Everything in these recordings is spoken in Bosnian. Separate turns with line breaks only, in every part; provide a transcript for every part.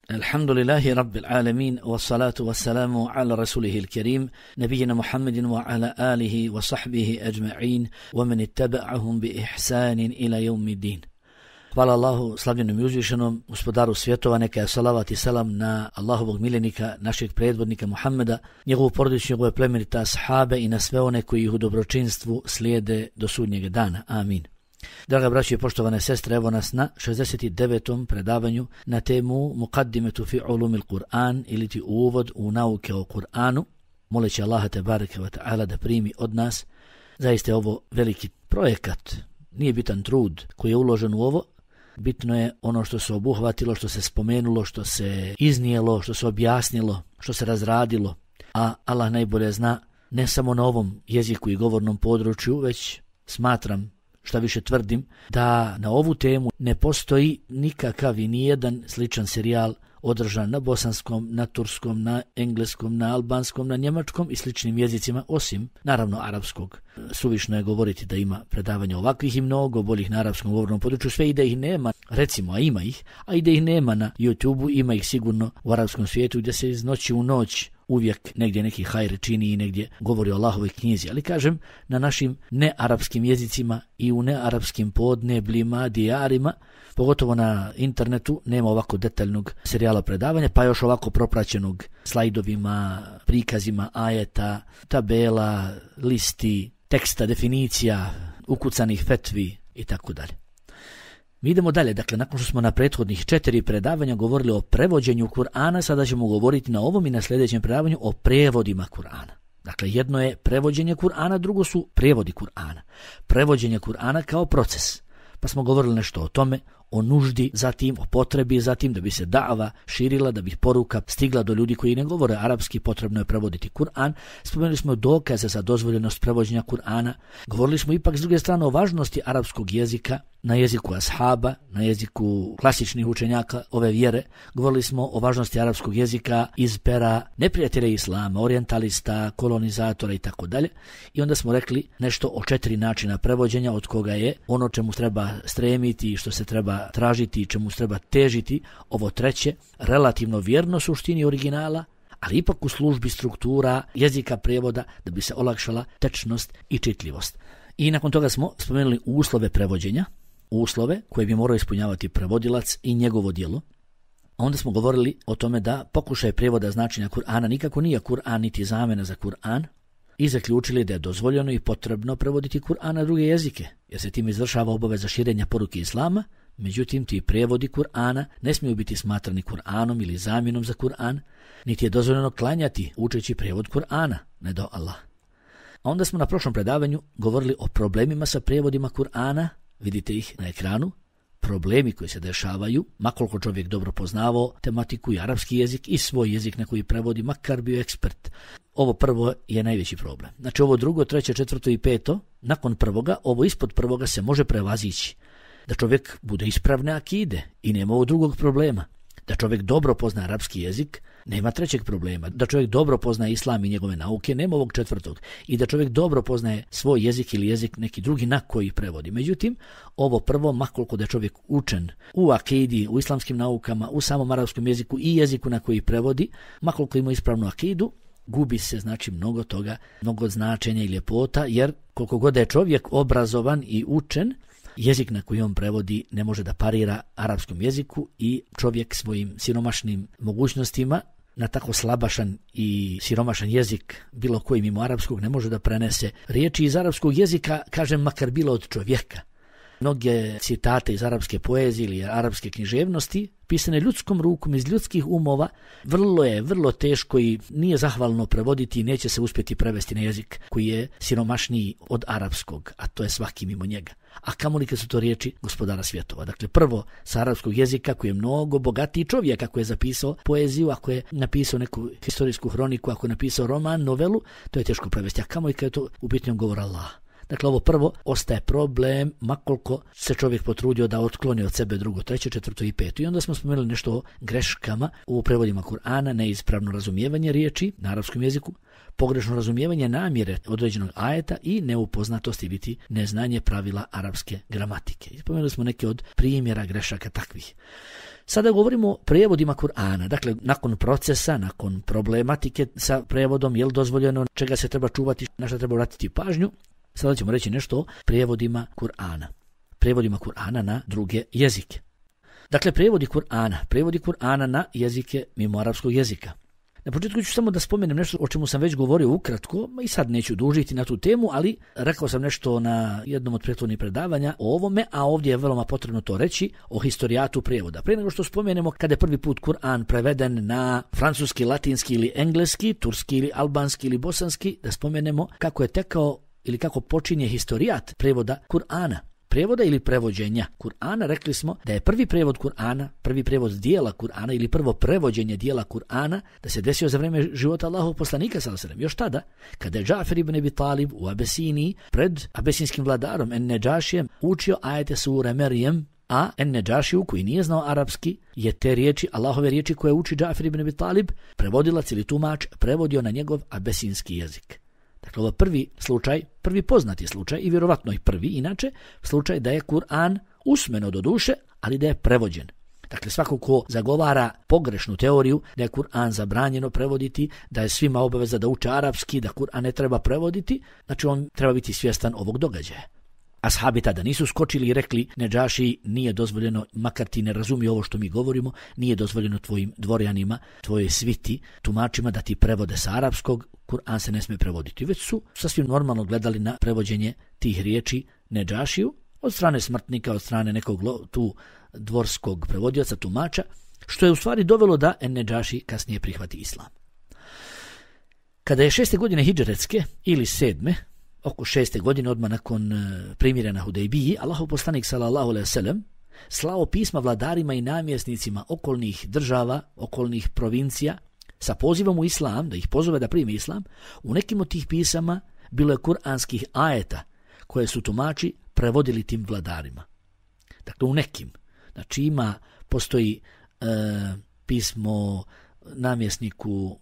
Alhamdulillahi Rabbil Alamin, wassalatu wassalamu ala rasulihil kerim, nabijina Muhammedin wa ala alihi wa sahbihi ajma'in, wa man ittaba'ahum bi ihsanin ila yawmi din. Hvala Allahu, slavljenom i uzvišenom, gospodaru svjetova, neka je salavat i salam na Allahovog miljenika, našeg predvodnika Muhammeda, njegovu porodicu, njegove plemenite ashabe i na sve one koji ih u dobročinstvu slijede do sudnjeg dana. Amin. Draga braćo i poštovane sestre, evo nas na 69. predavanju na temu Muqaddimetu fi ulumil Kur'an, ili ti uvod u nauke o Kur'anu. Moleći Allaha tebareke ve ta'ala da primi od nas. Zaista je ovo veliki projekat, nije bitan trud koji je uložen u ovo, bitno je ono što se obuhvatilo, što se spomenulo, što se iznijelo, što se objasnilo, što se razradilo, a Allah najbolje zna, ne samo na ovom jeziku i govornom području, već smatram, šta više tvrdim, da na ovu temu ne postoji nikakav i nijedan sličan serijal održan na bosanskom, na turskom, na engleskom, na albanskom, na njemačkom i sličnim jezicima, osim, naravno, arapskog. Suvišno je govoriti da ima predavanja ovakvih i mnogo boljih na arapskom govornom području, sve i da ih nema, recimo, a ima ih, a i da ih nema na YouTubeu, ima ih sigurno u arapskom svijetu gdje se iz noći u noć uvijek negdje neki hajr čini i negdje govori o Allahovoj knjizi. Ali kažem, na našim nearapskim jezicima i u nearapskim podnebljima, dijarima, pogotovo na internetu, nema ovako detaljnog serijala predavanja, pa još ovako propraćenog slajdovima, prikazima ajeta, tabela, listi, teksta, definicija, ukucanih fetvi i tako dalje. Mi idemo dalje, dakle, nakon što smo na prethodnih 4 predavanja govorili o prevođenju Kur'ana, sada ćemo govoriti na ovom i na sljedećem predavanju o prevodima Kur'ana. Dakle, jedno je prevođenje Kur'ana, drugo su prevodi Kur'ana. Prevođenje Kur'ana kao proces. Pa smo govorili nešto o tome, o nuždi, zatim o potrebi, zatim da bi se da'va širila, da bi poruka stigla do ljudi koji ne govore arapski, potrebno je prevoditi Kur'an. Spomenuli smo dokaze za dozvoljenost prevođenja Kur'ana. Govorili smo ipak s druge strane o važnosti arapskog jezika, na jeziku ashaba, na jeziku klasičnih učenjaka ove vjere. Govorili smo o važnosti arapskog jezika iz pera neprijatelja islama, orientalista, kolonizatora i tako dalje. I onda smo rekli nešto o 4 načina prevođenja, od koga je ono čemu treba stremiti, što se treba tražiti i čemu treba težiti, ovo treće, relativno vjerno suštini originala, ali ipak u službi struktura jezika prevoda da bi se olakšala tečnost i čitljivost. I nakon toga smo spomenuli uslove prevođenja, uslove koje bi morao ispunjavati prevodilac i njegovo djelo. A onda smo govorili o tome da pokušaj prevoda značenja Kur'ana nikako nije Kur'an niti zamena za Kur'an i zaključili da je dozvoljeno i potrebno prevoditi Kur'an na druge jezike, jer se tim izvršava obaveza širenja poruke islama. Međutim, ti prevodi Kur'ana ne smiju biti smatrani Kur'anom ili zamjenom za Kur'an, niti je dozvoljeno klanjati učeći prevod Kur'ana, ne do Allah. A onda smo na prošlom predavanju govorili o problemima sa prevodima Kur'ana, vidite ih na ekranu, problemi koji se dešavaju, makoliko čovjek dobro poznavao tematiku i arapski jezik i svoj jezik na koji prevodi, makar bio ekspert. Ovo prvo je najveći problem. Znači ovo drugo, treće, četvrto i peto, nakon prvoga, ovo ispod prvoga se može prevazići. Da čovjek bude ispravne akide i nema ovog drugog problema. Da čovjek dobro pozna arapski jezik, nema trećeg problema. Da čovjek dobro poznaje islam i njegove nauke, nema ovog četvrtog. I da čovjek dobro poznaje svoj jezik ili jezik neki drugi na koji prevodi. Međutim, ovo prvo, makoliko da je čovjek učen u akidi, u islamskim naukama, u samom arapskom jeziku i jeziku na koji prevodi, makoliko ima ispravnu akidu, gubi se znači mnogo toga, mnogo značenja i ljepota, jer koliko god je čovjek obrazovan i učen, jezik na koji on prevodi ne može da parira arapskom jeziku i čovjek svojim siromašnim mogućnostima na tako slabašan i siromašan jezik bilo koji mimo arapskog ne može da prenese riječi iz arapskog jezika, kažem makar bilo od čovjeka. Mnoge citate iz arapske poezije ili arapske književnosti pisane ljudskom rukom iz ljudskih umova vrlo teško i nije zahvalno prevoditi i neće se uspjeti prevesti na jezik koji je siromašniji od arapskog, a to je svaki mimo njega. A kamoli kad su to riječi gospodara svjetova. Dakle, prvo sa arapskog jezika koji je mnogo bogatiji čovjek, ako je zapisao poeziju, ako je napisao neku historijsku hroniku, ako je napisao roman, novelu, to je teško prevesti. A kamoli kad je to u pitanju govor Allah. Dakle, ovo prvo ostaje problem, makoliko se čovjek potrudio da otkloni od sebe drugo, treće, četvrto i peto. I onda smo spomenuli nešto o greškama u prevodima Kur'ana, neispravno razumijevanje riječi na arapskom jeziku, pogrešno razumijevanje namjere određenog ajeta i neupoznatosti biti neznanje pravila arapske gramatike. I spomenuli smo neke od primjera grešaka takvih. Sada govorimo o prevodima Kur'ana. Dakle, nakon procesa, nakon problematike sa prevodom, je li dozvoljeno, čega se treba čuvati, na što treba vratiti pažnju, sada ćemo reći nešto o prevodima Kur'ana. Prevodima Kur'ana na druge jezike. Dakle, prevodi Kur'ana na jezike mimo arapskog jezika. Na početku ću samo da spomenem nešto o čemu sam već govorio ukratko, i sad neću dužiti na tu temu, ali rekao sam nešto na jednom od prethodnih predavanja o ovome, a ovdje je veoma potrebno to reći, o historijatu prevoda. Prije nego što spomenemo kada je prvi put Kur'an preveden na francuski, latinski ili engleski, turski ili albanski ili bosanski, da spomenemo kako je tekao ili kako počinje historijat prevoda Kur'ana. Prevoda ili prevođenja Kur'ana, rekli smo da je prvi prevod Kur'ana, prvi prevod dijela Kur'ana ili prvo prevođenje dijela Kur'ana da se desio za vrijeme života Allahovog poslanika sallallahu alejhi ve sellem. Još tada, kada je Džafer ibn Abi Talib u Abesiniji pred abesinskim vladarom En-Nedžašijem učio ajete sure Merijem, a En-Nedžašiju koji nije znao arapski je te riječi, Allahove riječi koje uči Džafer ibn Abi Talib, prevodilac ili tumač prevodio na njegov abesinski jezik. Dakle, ovo prvi slučaj, prvi poznati slučaj i vjerovatno i prvi inače slučaj da je Kur'an usmeno do duše, ali da je prevođen. Dakle, svako ko zagovara pogrešnu teoriju da je Kur'an zabranjeno prevoditi, da je svima obaveza da uče arapski, da Kur'an ne treba prevoditi, znači on treba biti svjestan ovog događaja. Ashabi tada nisu skočili i rekli Nedžaši, nije dozvoljeno, makar ti ne razumije ovo što mi govorimo, nije dozvoljeno tvojim dvorjanima, tvojoj sviti, tumačima da ti prevode sa arapskog, Kur'an se ne smije prevoditi. Već su sasvim normalno gledali na prevođenje tih riječi Nedžašiju od strane smrtnika, od strane nekog tu dvorskog prevodioca, tumača, što je u stvari dovelo da En-Nedžaši kasnije prihvati islam. Kada je 6. godine hidžretske ili 7. oko 6. godine odmah nakon primirja na Hudejbiji, Allahov poslanik sallallahu alejhi ve sellem slao pisma vladarima i namjesnicima okolnih država, okolnih provincija sa pozivom u islam, da ih pozove da primi islam. U nekim od tih pisama bilo je kuranskih ajeta koje su tumači prevodili tim vladarima. Dakle, u nekim. Znači postoji pismo namjesniku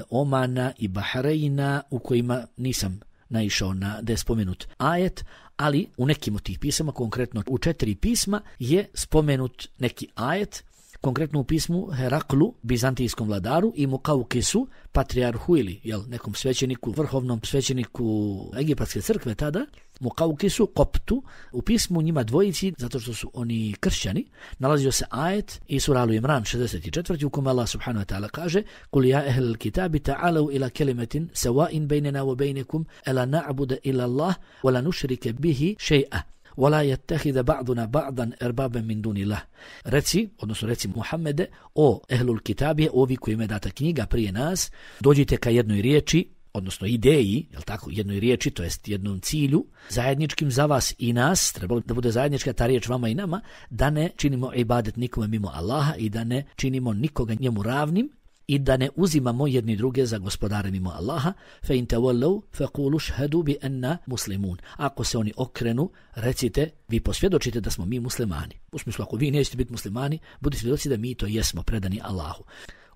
Omana i Bahreina u kojima nisam naišao da je spomenut ajet, ali u nekim od tih pisama, konkretno u 4 pisma, je spomenut neki ajet, konkretno u pismu Heraklu, bizantijskom vladaru, i Mukaukisu, patrijarhu ili nekom svećeniku, vrhovnom svećeniku Egipatske crkve tada, Mukaukisu, Koptu, u pismu njima dvojici, zato što su oni kršćani, nalazio se ajet i sura Al-Imran 64. u kome Allah subhanahu wa ta'ala kaže: "Kul ja ehlal kitabi ta'alu ila kelimetin sawa'in baynana wa baynakum alla na'budu illa Allah wa la nushrika bihi shay'a wa la yattakhidha ba'duna ba'dan erbaban min dunillah." Reci Muhammede, o ehlul kitabi, ovi kojima je data knjiga prije nas, dođite ka jednoj riječi, odnosno ideji, jednoj riječi, to jest jednom cilju, zajedničkim za vas i nas, trebalo da bude zajednička ta riječ vama i nama, da ne činimo ibadet nikome mimo Allaha i da ne činimo nikoga njemu ravnim i da ne uzimamo jedni druge za gospodare mimo Allaha. Fe in tawallu faqulu shhadu bi anna muslimun. Ako se oni okrenu, recite, vi posvjedočite da smo mi muslimani. U smislu, ako vi nećete biti muslimani, budite svjedoci da mi to jesmo, predani Allahu.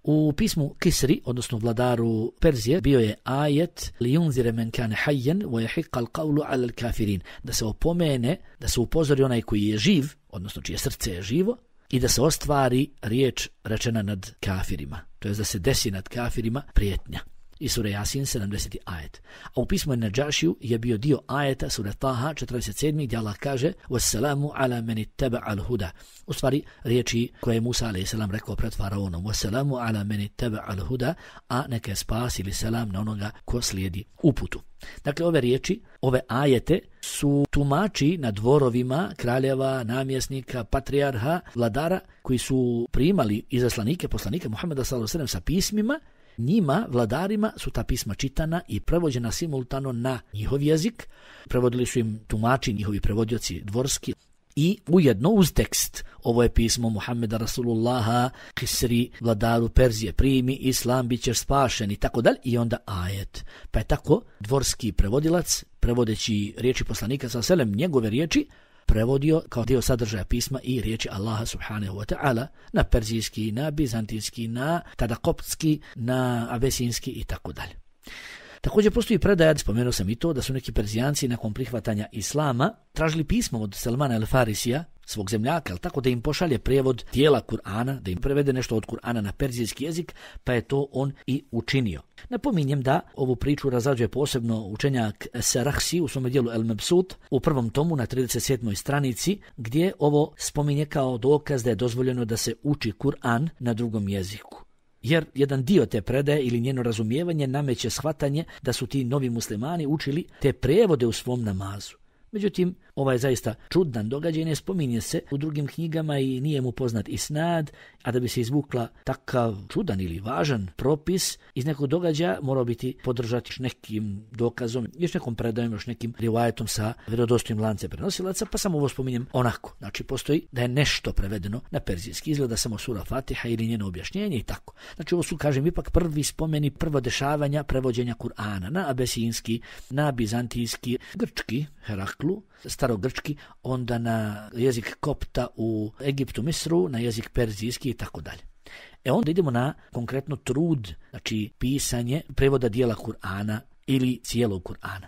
U pismu Kisri, odnosno vladaru Perzije, bio je ajet li yunzire men kane hayyan wa yahiqqa al-qawlu 'ala al-kafirin, da se opomene, da se upozori onaj koji je živ, odnosno čije srce je živo, i da se ostvari riječ rečena nad kafirima, to je da se desi nad kafirima prijetnja. I sura Jasin 70. ajet. A u pismu En-Nedžašiju je bio dio ajeta sura Taha 47. gdje Allah kaže: "Wassalamu ala man ittaba'a al-huda." U stvari riječi koje je Musa a.s. rekao pred faraonom: "Wassalamu ala man ittaba'a al-huda", a neka je spas ili selam na onoga ko slijedi uputu. Dakle, ove riječi, ove ajete su tumači na dvorovima kraljeva, namjesnika, patrijarha, vladara koji su primali izaslanike, poslanike Muhameda s.a.v. sa pismima. Njima, vladarima, su ta pisma čitana i prevođena simultano na njihov jezik. Prevodili su im tumači, njihovi prevodioci dvorski, i ujedno uz tekst. Ovo je pismo Muhammeda Rasulullaha, Kisri, vladaru Perzije, primi islam, bit ćeš spašen i tako dalje. I onda ajet. Pa je tako dvorski prevodilac, prevodeći riječi poslanika sallallahu alejhi ve sellem, njegove riječi, prevodio kao dio sadržaja pisma i riječi Allaha subhanahu wa ta'ala na perzijski, na bizantijski, na tada koptski, na abesinski i tako dalje. Također postoji predaja, spomenuo sam i to, da su neki Perzijanci nakon prihvatanja islama tražili pismo od Salmana el-Farisija, svog zemljaka, tako da im pošalje prijevod dijela Kur'ana, da im prevede nešto od Kur'ana na perzijski jezik, pa je to on i učinio. Napominjem da ovu priču razrađuje posebno učenjak Serahsi u svom dijelu El-Mebsut u prvom tomu na 37. stranici, gdje ovo spominje kao dokaz da je dozvoljeno da se uči Kur'an na drugom jeziku. Jer jedan dio te predaje ili njeno razumijevanje nameće shvatanje da su ti novi muslimani učili te prevode u svom namazu. Međutim, ovaj je zaista čudan događaj, ne spominje se u drugim knjigama i nije mu poznat isnad, a da bi se izvukla takav čudan ili važan propis iz nekog događaja morao biti podržati još nekim dokazom, još nekom predajom, još nekim rivajetom sa vjerodostojnim lancem prenosilaca, pa samo ovo spominjem onako. Znači, postoji da je nešto prevedeno na perzijski, izgleda samo sura Fatiha ili njeno objašnjenje i tako. Znači, ovo su, kažem, ipak prvi spomeni, prvo dešavanja prevođenja Kur'ana na abesinski, na bizantijski, grčki, Heraklu, starogrčki, onda na jezik kopta u Egiptu, Misru, na jezik perzijski i tako dalje. Onda idemo na konkretno trud, znači pisanje prevoda dijela Kur'ana ili cijelog Kur'ana.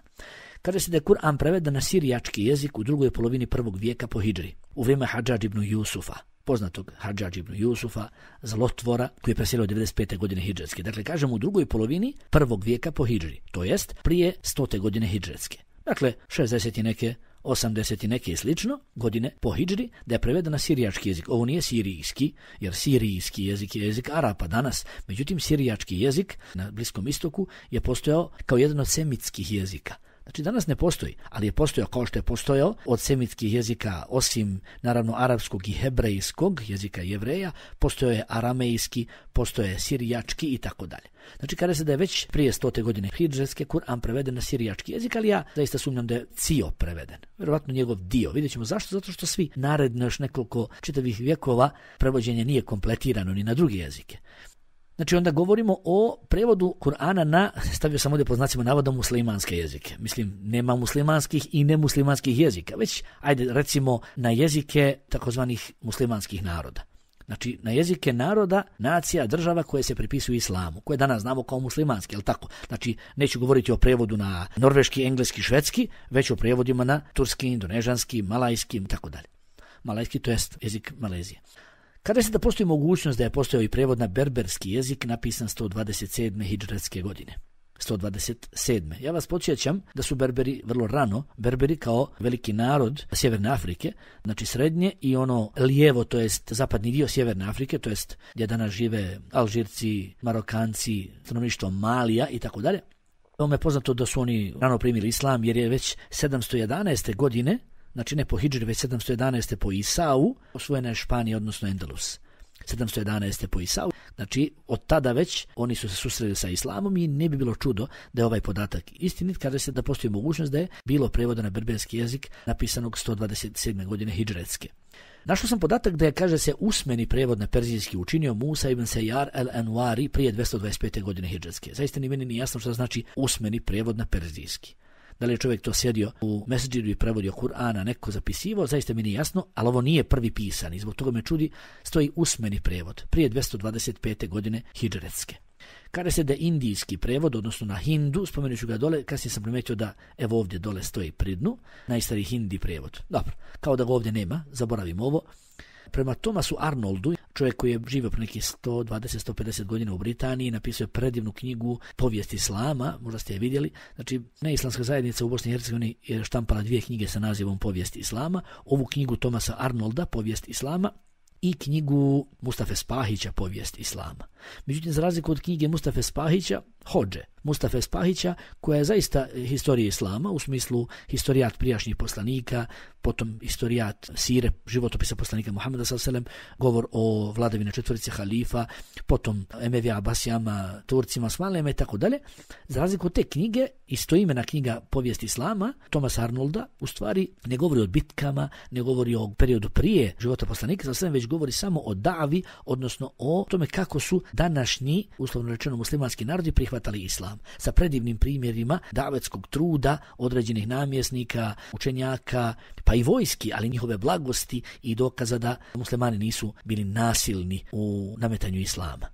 Kaže se da je Kur'an preveden na sirijački jezik u drugoj polovini 1. vijeka po hidžri, u vrijeme Hadžadž ibn Jusufa, poznatog Hadžadž ibn Jusufa, zlotvora, koji je preselio 95. godine hidžretske. Dakle, kažemo u drugoj polovini 1. vijeka po hidžri, to jest prije 100. godine hidžretske. Dakle, 60 i neke, 80 i neke i slično godine po hidžri, da je preveden na sirijački jezik. Ovo nije sirijski, jer sirijski jezik je jezik Arapa danas. Međutim, sirijački jezik na Bliskom istoku je postojao kao jedan od semitskih jezika. Znači, danas ne postoji, ali je postojao kao što je postojao od semitskih jezika, osim naravno arapskog i hebrejskog jezika Jevreja, postojao je aramejski, postojao je sirijački i tako dalje. Znači, kada se da je već prije 100. godine hidžretske Kur'an preveden na sirijački jezik, ali ja zaista sumnjam da je cio preveden. Vjerovatno njegov dio. Vidjet ćemo zašto, zato što svi naredno još nekoliko čitavih vjekova prevođenje nije kompletirano ni na druge jezike. Znači, onda govorimo o prevodu Kur'ana na, stavio sam ovdje po znacima navoda, muslimanske jezike. Mislim, nema muslimanskih i nemuslimanskih jezika, već, ajde, recimo, na jezike takozvanih muslimanskih naroda. Znači, na jezike naroda, nacija, država koje se pripisuju islamu, koje danas znamo kao muslimanski, jel tako? Znači, neću govoriti o prevodu na norveški, engleski, švedski, već o prevodima na turski, indonežanski, malajski i tako dalje. Malajski, to jest jezik Malezije. Kada se da postoji mogućnost da je postojao i prevod na berberski jezik napisan 127. hidžretske godine. 127. Ja vas podsjećam da su Berberi vrlo rano, Berberi kao veliki narod Sjeverne Afrike, znači srednje i ono lijevo, to jest zapadni dio Sjeverne Afrike, to jest gdje danas žive Alžirci, Marokanci, stanovništvo Malija i tako dalje. Ovo je poznato da su oni rano primili islam jer je već 711. godine, znači ne po hidžri, već 711. po Isau, osvojena je Španija, odnosno Endalus. 711. po Isau. Znači, od tada već oni su se susreli sa islamom i ne bi bilo čudo da je ovaj podatak istinit, kada se da postoji mogućnost da je bilo prevoda na berberski jezik napisanog 127. godine hidžretske. Našao sam podatak da je, kaže se, usmeni prevod na perzijski učinio Musa ibn Sejar el-Anwari prije 225. godine hidžretske. Zaista ni meni nije jasno što znači usmeni prevod na perzijski. Da li je čovjek to sjedio u mesedžidu i prevodio Kur'ana, neko zapisivao, zaista mi nije jasno, ali ovo nije prvi pisan i zbog toga me čudi, stoji usmeni prevod prije 225. godine hidžretske. Kada se da indijski prevod, odnosno na hindu, spomenut ću ga dole, kasnije sam primetio da evo ovdje dole stoji pri dnu, najstariji hindi prevod. Dobro, kao da ga ovdje nema, zaboravimo ovo. Prema Thomasu Arnoldu, čovjek koji je živio pre nekih 120-150 godina u Britaniji, napisao je predivnu knjigu Povijest islama, možda ste je vidjeli. Znači, neislamska zajednica u Bosni i Hercegovini je štampala 2 knjige sa nazivom Povijest islama, ovu knjigu Thomasa Arnolda, Povijest islama, i knjigu Mustafe Spahića, Povijest islama. Međutim, za razliku od knjige Mustafe Spahića, Hodže Mustafe Spahića, koja je zaista historija islama, u smislu historijat prijašnjih poslanika, potom historijat sire, životopisa poslanika Muhameda s.a.v., govor o vladavini četvorice halifa, potom Emevija, Abasijama, Turcima, Osmanlijama i tako dalje. Za razliku od te knjige, istoimena knjiga Povijest islama, Thomasa Arnolda, u stvari ne govori o bitkama, ne govori o periodu prije života poslanika s.a.v., već govori samo o davi, odnosno o tome kako su današnji, uslovno rečeno muslimanski narodi, prihvatali islam. Sa predivnim primjerima davetskog truda određenih namjesnika, učenjaka, pa i vojski, ali njihove blagosti i dokaza da muslimani nisu bili nasilni u nametanju islama.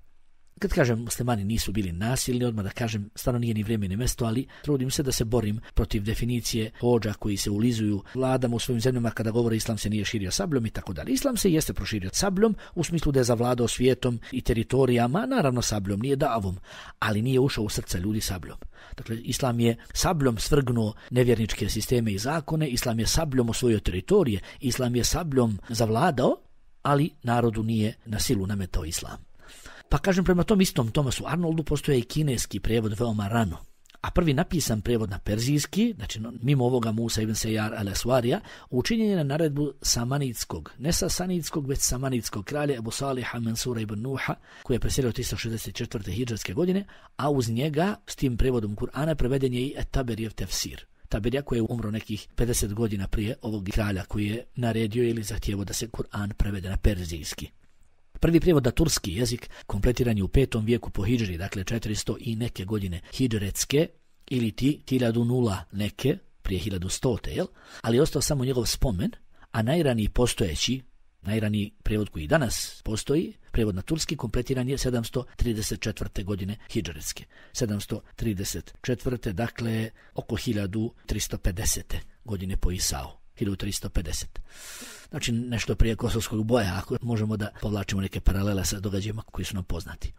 Kad kažem muslimani nisu bili nasilni, odmah da kažem, stvarno nije ni vrijeme ni mjesto, ali trudim se da se borim protiv definicije hodža koji se ulizuju vladama u svojim zemljama kada govore islam se nije širio sabljom i tako dalje. Islam se jeste proširio sabljom u smislu da je zavladao svijetom i teritorijama, naravno sabljom, nije davom, ali nije ušao u srca ljudi sabljom. Dakle, islam je sabljom svrgnuo nevjerničke sisteme i zakone, islam je sabljom osvojio teritorije, islam je sabljom zavladao, ali narodu nije na silu nametao islam. Pa kažem, prema tom istom Thomasu Arnoldu postoje i kineski prijevod veoma rano. A prvi napisan prijevod na perzijski, znači mimo ovoga Musa ibn Sejar al-Aswarija, učinjen je na naredbu samanidskog, ne sasanidskog, već samanidskog kralja Ebu Saliha Mansura ibn Nuha, koji je preselio 364. hidžarske godine, a uz njega s tim prijevodom Kur'ana preveden je i Taberijev tefsir. Taberija koji je umro nekih 50 godina prije ovog kralja koji je naredio ili zahtjevo da se Kur'an prevede na perzijski. Prvi prijevod na turski jezik kompletiran je u 5. vijeku po hidžri, dakle 400 i neke godine hidžretske, ili 1000 neke, prije 1100, jel? Ali je ostao samo njegov spomen, a najraniji prijevod koji danas postoji, prijevod na turski, kompletiran je 734. godine hidžretske. 734. dakle oko 1350. godine po Isau. 1350. Znači nešto prije Kosovskog boja, ako možemo da povlačimo neke paralele sa događajima koji su nam poznati.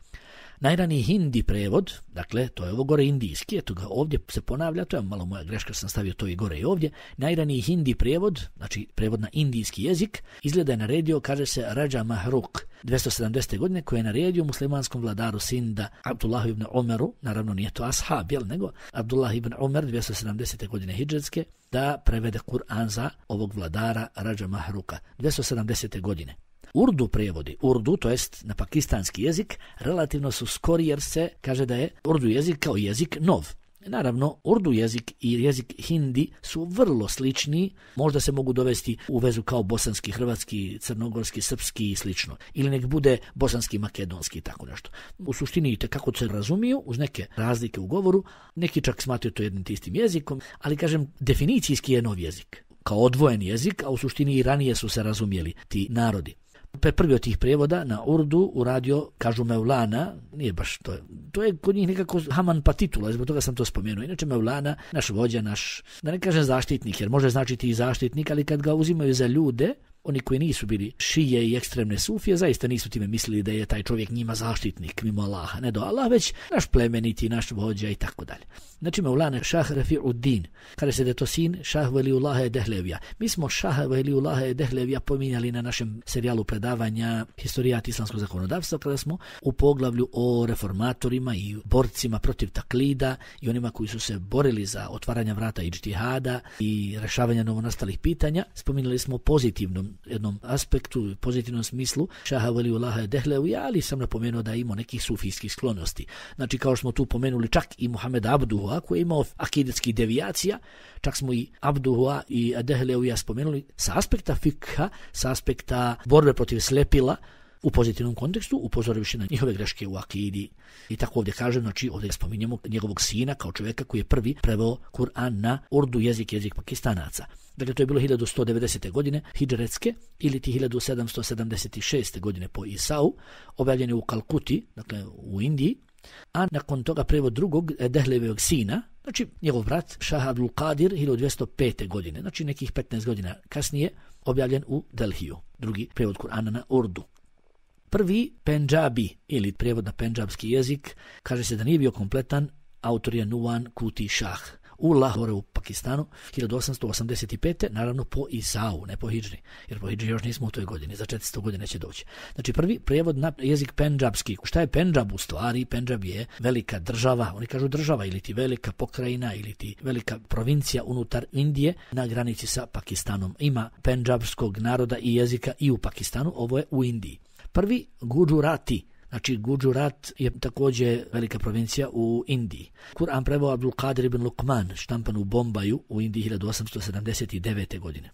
Najraniji hindi prevod, dakle to je ovo gore indijski, eto ga ovdje se ponavlja, to je malo moja greška, sam stavio to i gore i ovdje. Najraniji hindi prevod, znači prevod na indijski jezik, izgleda je naredio, kaže se Rađa Mahruk 270. godine, koji je naredio muslimanskom vladaru Sinda Abdullah ibn Umaru, naravno nije to ashab, nego Abdullah ibn Umar 270. godine hidžretske, da prevede Kur'an za ovog vladara Rađa Mahruka 270. godine. Urdu prevodi, urdu, to jest na pakistanski jezik, relativno su skori jer se kaže da je urdu jezik kao jezik nov. Naravno, urdu jezik i jezik hindi su vrlo slični, možda se mogu dovesti u vezu kao bosanski, hrvatski, crnogorski, srpski i slično. Ili nek bude bosanski, makedonski i tako nešto. U suštini kako se razumiju, uz neke razlike u govoru, neki čak smatraju to jednim istim jezikom, ali kažem, definicijski je nov jezik, kao odvojen jezik, a u suštini i ranije su se razumjeli ti narodi. Prvi od tih prijevoda na urdu uradio, kažu Mevlana, nije baš to je kod njih nekako Haman pa titula, zbog toga sam to spomenuo. Inače Mevlana, naš vođa, da ne kažem zaštitnik, jer može značiti i zaštitnik, ali kad ga uzimaju za ljude, oni koji nisu bili šije i ekstremne sufije, zaista nisu time mislili da je taj čovjek njima zaštitnik mimo Allaha, ne do Allah, već naš plemeniti, naš vođa i tako dalje. Znači Mevlana Šah Rafi'uddin, kada se da je to sin Šah Veliullaha Dehlevija. Mi smo Šah Veliullaha Dehlevija pominjali na našem serijalu predavanja Historijat islamskog zakonodavstva, kada smo u poglavlju o reformatorima i borcima protiv taklida i onima koji su se borili za otvaranje vrata ijtihada i rešavanja novonastalih pitanja. Spominjali smo pozitivnom jednom aspektu, pozitivnom smislu Šaha Veliullaha Dehlevija, ali sam napomenuo da ima nekih sufijskih sklonosti. Znači kao što smo tu pomenuli čak i Muhammed Abduha koji je imao akidetskih devijacija, čak smo i Abduha i Dehlevija spomenuli sa aspekta fikha, sa aspekta borbe protiv slepila u pozitivnom kontekstu, upozorivši na njihove greške u akidi. I tako ovdje kažem, znači ovdje spominjemo njegovog sina kao čovjeka koji je prvi preveo Kur'an na urdu jezik Pakistanaca. Dakle, to je bilo 1190. godine hidžretske ili 1776. godine po Isau, objavljen je u Kalkuti, dakle u Indiji, a nakon toga prevod drugog Dehlevijevog sina, znači njegov brat Šah Abdul Qadir 1205. godine, znači nekih 15 godina kasnije, objavljen u Delhiju, drugi prevod Kur'ana na urdu. Prvi Pendžabi ili prijevod na pendžabski jezik kaže se da nije bio kompletan, autor je Nuwan Kuti Šah. u Lahore u Pakistanu 1885. naravno po Isau, ne po Hidžri, jer po Hidžri još nismo u toj godini, za 400 godina će doći. Znači prvi prijevod na jezik pendžabski. Šta je Pendžab u stvari? Pendžab je velika država, oni kažu država ili ti velika pokrajina ili ti velika provincija unutar Indije na granici sa Pakistanom. Ima pendžabskog naroda i jezika i u Pakistanu, ovo je u Indiji. Prvi Guđurati. Znači, Guđurat je također velika provincija u Indiji. Kur'an preveo Abdul Qadir ibn Luqman, štampan u Bombaju u Indiji 1879. godine.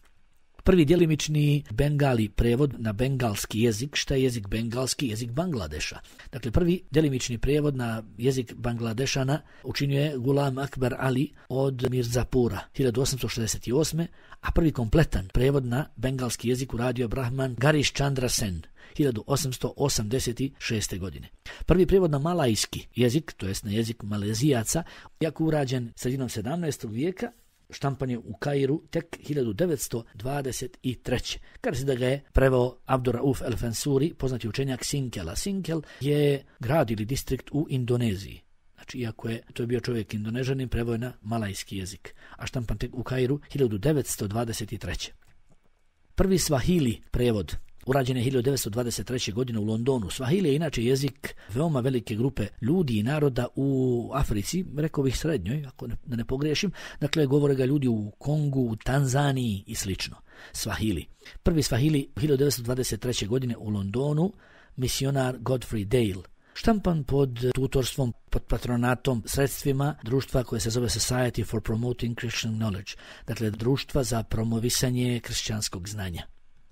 Prvi djelimični bengali prevod na bengalski jezik. Šta je jezik bengalski? Jezik Bangladeša. Dakle, prvi djelimični prevod na jezik Bangladešana učinio je Gulam Akbar Ali od Mirzapura 1868. A prvi kompletan prevod na bengalski jezik uradio Brahman Garish Chandra Sen 1886. godine. Prvi prijevod na malajski jezik, to jest na jezik Malezijaca, jako urađen sredinom 17. vijeka, štampan je u Kairu tek 1923. Kada se da ga je preveo Abdurrauf el-Fansuri, poznati učenjak Sinkela. Sinkel je grad ili distrikt u Indoneziji. Znači, iako je to bio čovjek Indonežanin, preveo je na malajski jezik, a štampan tek u Kairu 1923. Prvi Swahili prevod urađen je 1923. godine u Londonu. Swahili je inače jezik veoma velike grupe ljudi i naroda u Africi, rekao bih srednjoj, ako da ne pogriješim. Dakle, govore ga ljudi u Kongu, u Tanzaniji i slično. Swahili. Prvi Swahili 1923. godine u Londonu, misionar Godfrey Dale. Štampan pod tutorstvom, pod patronatom, sredstvima društva koje se zove Society for Promoting Christian Knowledge. Dakle, društva za promovisanje kršćanskog znanja.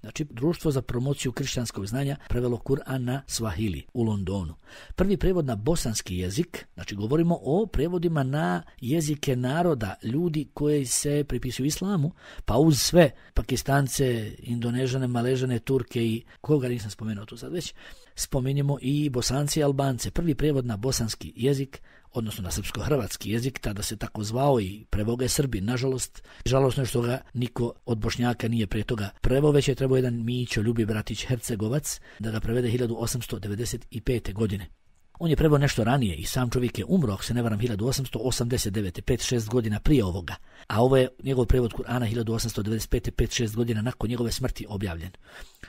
Znači, društvo za promociju kršćanskog znanja prevelo Kur'an na Swahili u Londonu. Prvi prevod na bosanski jezik, znači govorimo o prevodima na jezike naroda, ljudi koji se pripisuju islamu, pa uz sve Pakistance, Indonežane, Maležane, Turke i koga nisam spomenuo tu sad već, spomenjemo i Bosanci i Albance. Prvi prevod na bosanski jezik, odnosno na srpsko-hrvatski jezik, tada se tako zvao i preveo ga je Srbin. Nažalost, žalosno je što ga niko od Bošnjaka nije prije toga preveo, već je trebao jedan Mićo Ljubi Bratić Hercegovac da ga prevede 1895. godine. On je preveo nešto ranije i sam čovjek je umro, ako se ne varam, 1889. 5-6 godina prije ovoga. A ovo je njegov prevod Kur'ana 1895. 5-6 godina nakon njegove smrti objavljen.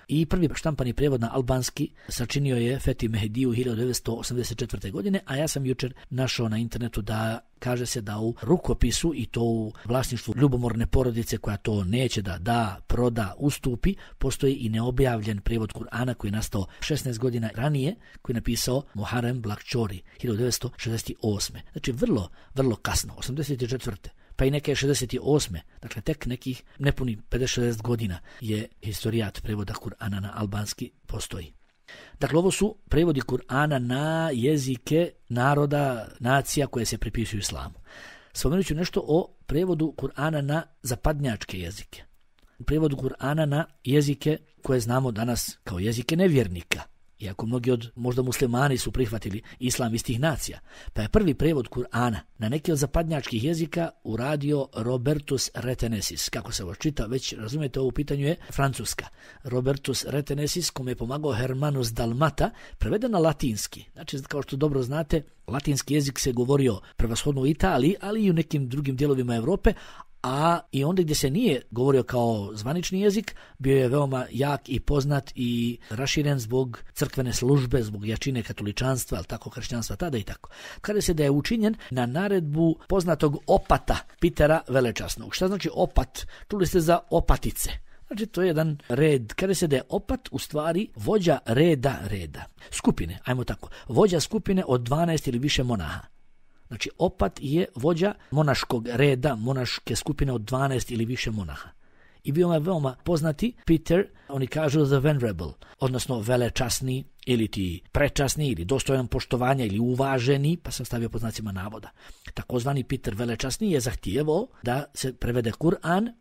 I prvi štampani prevod na albanski sačinio je Fethi Mehdiju 1984. godine, a ja sam jučer našao na internetu da kaže se da u rukopisu i to u vlasništvu ljubomorne porodice koja to neće da proda, ustupi, postoji i neobjavljen prevod Kur'ana koji je nastao 16 godina ranije, koji je napisao Muharrem Blackchori 1968. Znači vrlo kasno, 84. pa i neke 68. Dakle, tek nekih nepuni 50-60 godina je historijat prevoda Kur'ana na albanski postoji. Dakle, ovo su prevodi Kur'ana na jezike naroda, nacija koje se pripisuju islamu. Spomenut ću nešto o prevodu Kur'ana na zapadnjačke jezike. Prevodu Kur'ana na jezike koje znamo danas kao jezike nevjernika. Iako mnogi od možda muslimani su prihvatili islam iz tih nacija. Pa je prvi prevod Kur'ana na neki od zapadnjačkih jezika uradio Robertus Retenesis. Kako se ovo čita, već razumijete, ovo pitanju je francuska. Robertus Retenesis, kome je pomagao Hermanus Dalmata, preveden na latinski. Znači, kao što dobro znate, latinski jezik se govorio prevashodno u Italiji, ali i u nekim drugim dijelovima Europe, a i onda gdje se nije govorio kao zvanični jezik, bio je veoma jak i poznat i raširen zbog crkvene službe, zbog jačine katoličanstva, ali tako kršćanstva tada i tako. Kada se da je učinjen na naredbu poznatog opata Pitera Velečasnog. Šta znači opat? Čuli ste za opatice. Znači, to je jedan red. Kada se da je opat u stvari vođa reda. Skupine, ajmo tako. Vođa skupine od 12 ili više monaha. Znači, opat je vođa monaškog reda, monaške skupine od 12 ili više monaha. I bio je veoma poznati Peter, oni kažu the venerable, odnosno velečasni ili ti prečasni ili dostojan poštovanja ili uvaženi, pa sam stavio pod znacima navoda. Takozvani Peter velečasni je zahtijevao da se prevede Kur'an.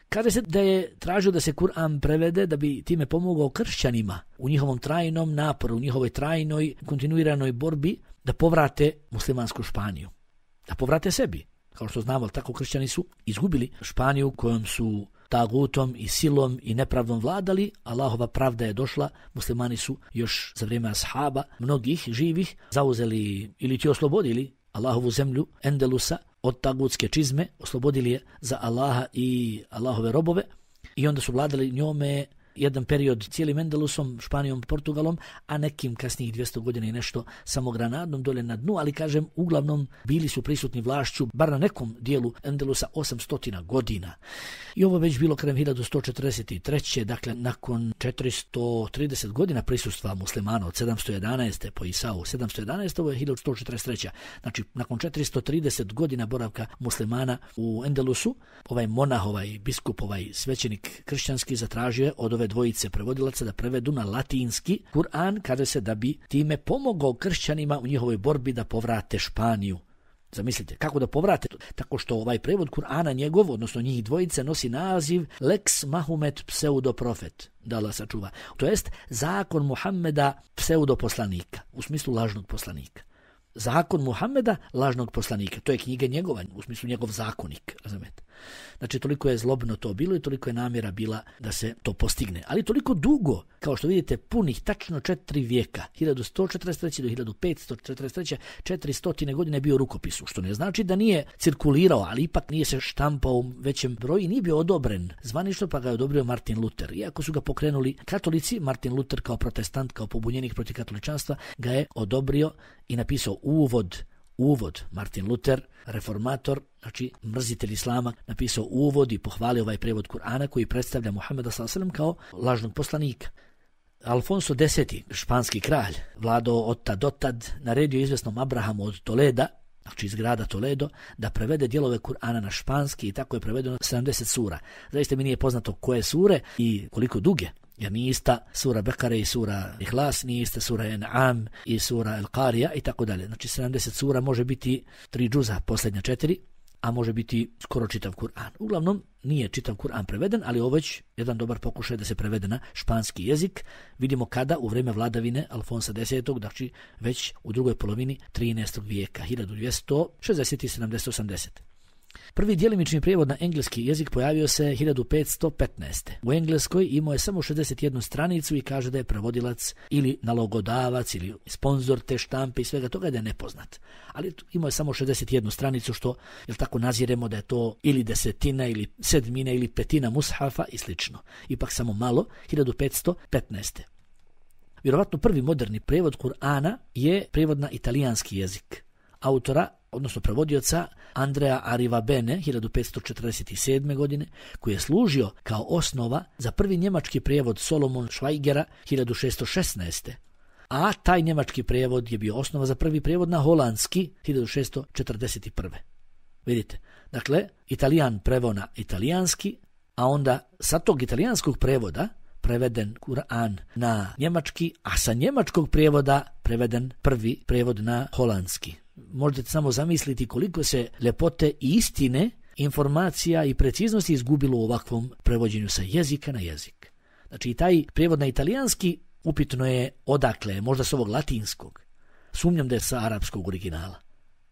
Kaže se da je tražio da se Kur'an prevede da bi time pomogao kršćanima u njihovom trajnom naporu, u njihovoj trajnoj kontinuiranoj borbi da povrate muslimansku Španiju, da povrate sebi. Kao što znamo, tako kršćani su izgubili Španiju kojom su tagutom i silom i nepravdom vladali. Allahova pravda je došla, muslimani su još za vrijeme ashaba, mnogih živih, zauzeli ili ti oslobodili Allahovu zemlju Endelusa od tagutske čizme, oslobodili je za Allaha i Allahove robove i onda su vladali njome jedan period cijelim Endelusom, Španijom, Portugalom, a nekim kasnijih 200 godina i nešto samo Granadom dole na dnu, ali kažem, uglavnom bili su prisutni vlašću, bar na nekom dijelu Endelusa 800 godina. I ovo već bilo krajem 1143. Dakle, nakon 430 godina prisustva muslimana od 711. po Isau 711. ovo je 1143. Znači, nakon 430 godina boravka muslimana u Endelusu, ovaj monah, ovaj biskup, ovaj svećenik kršćanski zatražio je od ove dvojice prevodilaca da prevedu na latinski Kur'an, kaže se da bi time pomogao kršćanima u njihovoj borbi da povrate Španiju. Zamislite, kako da povrate? Tako što ovaj prevod Kur'ana njegov, odnosno njih dvojice, nosi naziv Lex Mahomet pseudoprofet, da Allah sačuva. To jest zakon Muhammeda pseudoposlanika, u smislu lažnog poslanika. Zakon Muhammeda, lažnog poslanika. To je knjiga njegova, u smislu njegov zakonik, razumete. Znači, toliko je zlobno to bilo i toliko je namjera bila da se to postigne. Ali toliko dugo, kao što vidite, punih tačno 4 vijeka, 1143. do 1543. 400 godine je bio rukopisu, što ne znači da nije cirkulirao, ali ipak nije se štampao u većem broju i nije bio odobren zvanično, pa ga je odobrio Martin Luther. Iako su ga pokrenuli katolici, Martin Luther kao protestant, kao pobunjenik protiv katoličanstva, ga je odobrio i napisao uvod. Martin Luther, reformator, znači mrzitelj islama, napisao uvod i pohvalio ovaj prevod Kur'ana koji predstavlja Muhammeda s.a.v. kao lažnog poslanika. Alfonso X, španski kralj, vladao od tad do tad, naredio izvesnom Abrahamu od Toleda, znači iz grada Toledo, da prevede dijelove Kur'ana na španski i tako je prevedeno 70 sura. Zaista mi nije poznato koje sure i koliko duge. Jer nije ista sura Bekare i sura Ihlas, nije ista sura En'am i sura El-Qarija i tako dalje. Znači 70 sura može biti 3 džuza, posljednja 4, a može biti skoro čitav Kur'an. Uglavnom nije čitav Kur'an preveden, ali ovo već jedan dobar pokušaj da se prevede na španski jezik. Vidimo kada u vrijeme vladavine Alfonsa X, znači već u drugoj polovini 13. vijeka, 1260 i 70-80. Prvi djelimični prijevod na engleski jezik pojavio se 1515. U Engleskoj imao je samo 61 stranicu i kaže da je prevodilac ili nalogodavac ili sponzor te štampe i svega toga da je nepoznat. Ali imao je samo 61 stranicu, što jel tako naziremo da je to ili desetina ili sedmina ili petina mushafa i slično. Ipak samo malo, 1515. Vjerovatno prvi moderni prijevod Kur'ana je prijevod na italijanski jezik. Autora, odnosno prevodioca Andrea Arrivabene 1547. godine, koji je služio kao osnova za prvi njemački prijevod Solomon Schweigera 1616. A taj njemački prijevod je bio osnova za prvi prijevod na holandski 1641. Vidite, dakle, Italijan preveo na italijanski, a onda sa tog italijanskog prevoda preveden Kur'an na njemački, a sa njemačkog prijevoda preveden prvi prijevod na holandski. Možete samo zamisliti koliko se ljepote i istine, informacija i preciznosti izgubilo u ovakvom prevođenju sa jezika na jezik. Znači i taj prijevod na italijanski upitno je odakle, možda s ovog latinskog. Sumnjam da je sa arapskog originala.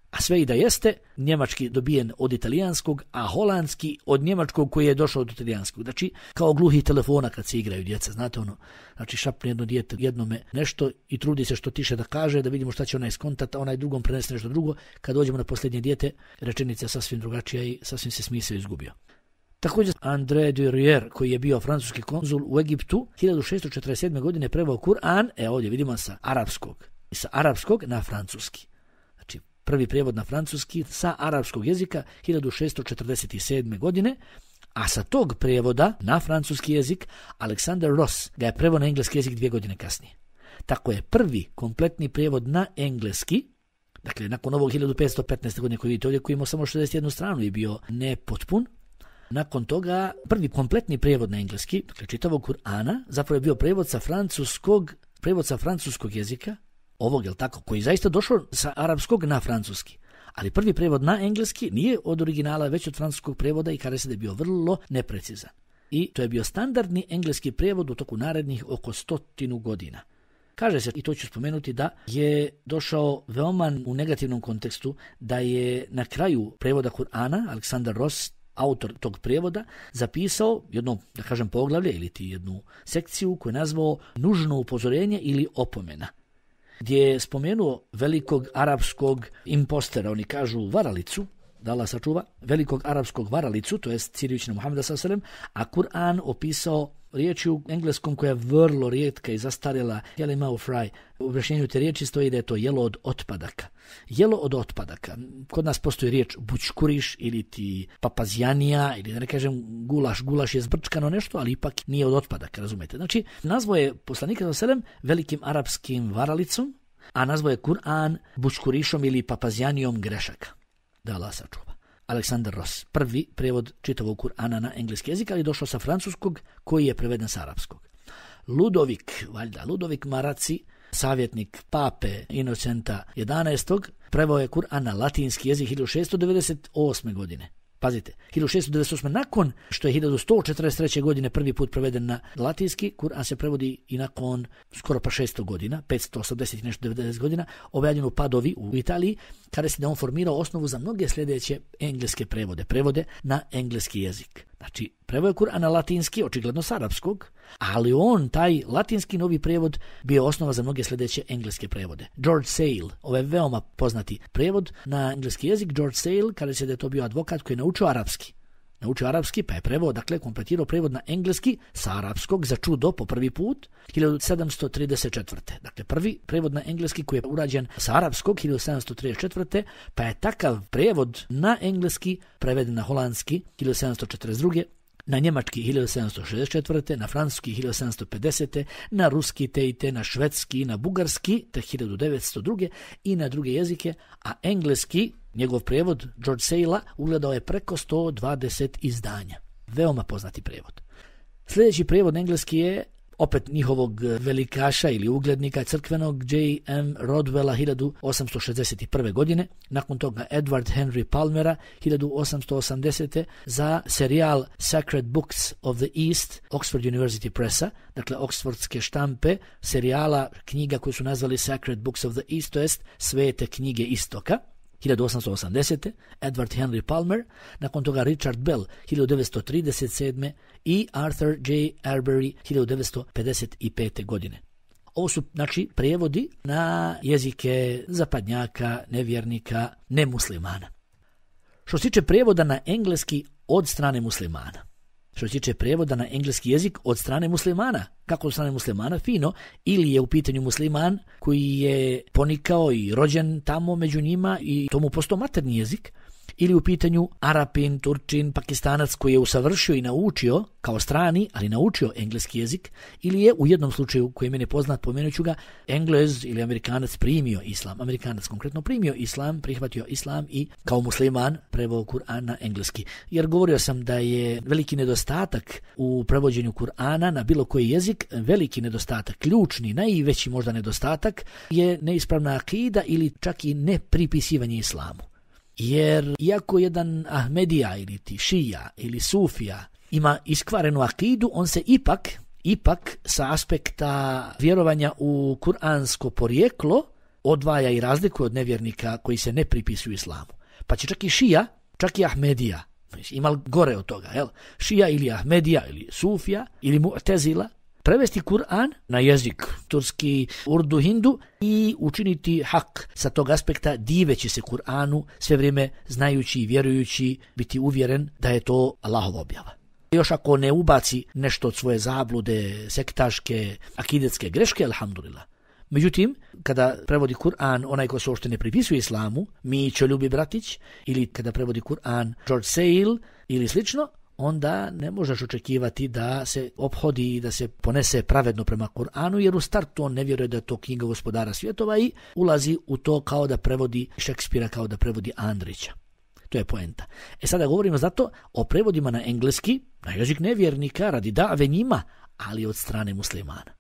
A sve i da jeste, njemački dobijen od italijanskog, a holandski od njemačkog koji je došao od italijanskog. Znači, kao gluhi telefona kad se igraju djeca, znate ono, znači šapne jedno dijete jednome nešto i trudi se što tiše da kaže, da vidimo šta će onaj skontat, a onaj drugom prenese nešto drugo. Kad dođemo na posljednje dijete, rečenica je sasvim drugačija i sasvim se smisao izgubio. Također, André Durier, koji je bio francuski konzul u Egiptu, 1647. godine preveo Kur'an, ovdje vidimo sa arapskog na francuski. Prvi prijevod na francuski sa arapskog jezika 1647. godine, a sa tog prijevoda na francuski jezik Alexander Ross ga je preveo na engleski jezik 2 godine kasnije. Tako je prvi kompletni prijevod na engleski, dakle nakon ovog 1515. godine koji vidite ovdje, koji imao samo 61 stranu i bio nepotpun, nakon toga prvi kompletni prijevod na engleski, dakle čitavog Kur'ana, zapravo je bio prijevod sa francuskog jezika, ovog, jel tako, koji je zaista došao sa arapskog na francuski. Ali prvi prijevod na engleski nije od originala, već od francuskog prijevoda i kaže se da je bio vrlo neprecizan. I to je bio standardni engleski prijevod u toku narednih oko 100 godina. Kaže se, i to ću spomenuti, da je došao veoma u negativnom kontekstu, da je na kraju prijevoda Kur'ana Alexander Ross, autor tog prijevoda, zapisao jedno, da kažem, poglavlje ili jednu sekciju koju je nazvao nužno upozorenje ili opomena, gdje je spomenuo velikog arapskog impostera, oni kažu varalicu, da Allah sačuva, velikog arapskog varalicu, to jest Sirijućina Muhameda s.a.v., a Kur'an opisao riječi u engleskom koja je vrlo rijetka i zastarjela, jelima fry. U objašnjenju te riječi stoji da je to jelo od otpadaka. Jelo od otpadaka. Kod nas postoji riječ bućkuriš ili ti papazjanija ili da ne kažem gulaš. Gulaš je zbrčkano nešto, ali ipak nije od otpadaka, razumete. Znači, nazvo je poslanika s.a.v. velikim arapskim varalicom, a nazvo je Kur'an bućkurišom ili papazjanijom grešaka. Da Allah sačuva. Aleksandar Ross, prvi prevod čitavog Kur'ana na engleski jezik, ali došao sa francuskog koji je preveden sa arapskog. Ludovik Maraci, savjetnik pape Inocenta 11. preveo je Kur'an na latinski jezik 1698. godine. Pazite, 1698. nakon što je 1143. godine prvi put preveden na latinski, Kur'an se prevodi i nakon skoro pa 600 godina, 580 i nešto 90 godina, objavljen u Padovi u Italiji, kada se da on formirao osnovu za mnoge sljedeće engleske prevode na engleski jezik. Znači, preveo je Kur'an na latinski, očigledno s arapskog, ali taj latinski novi prevod bio osnova za mnoge sljedeće engleske prevode. George Sale, ovaj veoma poznati prevod na engleski jezik, George Sale, kada se da je to bio advokat koji je naučio arapski, pa je preveo, dakle, kompletirao prevod na engleski sa arapskog za čudo po prvi put 1734. Dakle, prvi prevod na engleski koji je urađen sa arapskog 1734. pa je takav prevod na engleski preveden na holandski 1742. na njemački 1764. na francuski 1750. na ruski te na švedski, na bugarski te 1902. i na druge jezike, a engleski, njegov prevod George Sale ugledao je preko 120 izdanja. Veoma poznati prevod. Sljedeći prevod na engleski je opet njihovog velikaša ili uglednika crkvenog J.M. Rodwella 1861. godine, nakon toga Edward Henry Palmera 1880. za serijal Sacred Books of the East Oxford University Pressa, dakle oksfordske štampe serijala knjiga koju su nazvali Sacred Books of the East, to jest Svete knjige Istoka, 1880. Edward Henry Palmer, nakon toga Richard Bell 1937. i Arthur J. Arbery 1955. godine. Ovo su, znači, prijevodi na jezike zapadnjaka, nevjernika, nemuslimana. Što se tiče prijevoda na engleski od strane muslimana, kako od strane muslimana, fino, ili je u pitanju musliman koji je ponikao i rođen tamo među njima i tomu postao maternji jezik, ili u pitanju Arapin, Turčin, Pakistanac koji je usavršio i naučio kao strani, ali naučio engleski jezik, ili je u jednom slučaju koji je meni poznat, pomenut ću ga, Englez ili Amerikanac primio islam. Amerikanac konkretno primio islam, prihvatio islam i kao musliman preveo Kur'an na engleski. Jer govorio sam da je veliki nedostatak u prevođenju Kur'ana na bilo koji jezik, veliki nedostatak, ključni, najveći možda nedostatak je neispravna akida ili čak i nepripisivanje islamu. Jer iako jedan Ahmedija ili ti Šija ili Sufija ima iskvarenu akidu, on se ipak sa aspekta vjerovanja u kuransko porijeklo odvaja i razlikuje od nevjernika koji se ne pripisuju islamu. Pa će čak i Šija, čak i Ahmedija, ima gore od toga, Šija ili Ahmedija ili Sufija ili Mu'tezila, prevesti Kur'an na jezik turski, urdu, hindu i učiniti hak sa tog aspekta, diveći se Kur'anu, sve vrijeme znajući i vjerujući, biti uvjeren da je to Allahova objava. Još ako ne ubaci nešto od svoje zablude, sektaške, akidetske greške, alhamdulillah. Međutim, kada prevodi Kur'an onaj ko se uopšte ne pripisuje islamu, Mićo Ljubi Bratić, ili kada prevodi Kur'an George Sale ili slično, onda ne možeš očekivati da se ophodi i da se ponese pravedno prema Kur'anu, jer u startu on ne vjeruje da je to knjiga gospodara svjetova i ulazi u to kao da prevodi Šekspira, kao da prevodi Andrića. To je poenta. Sada govorimo zato o prevodima na engleski, na jezik nevjernika, radi dave njima, ali od strane muslimana.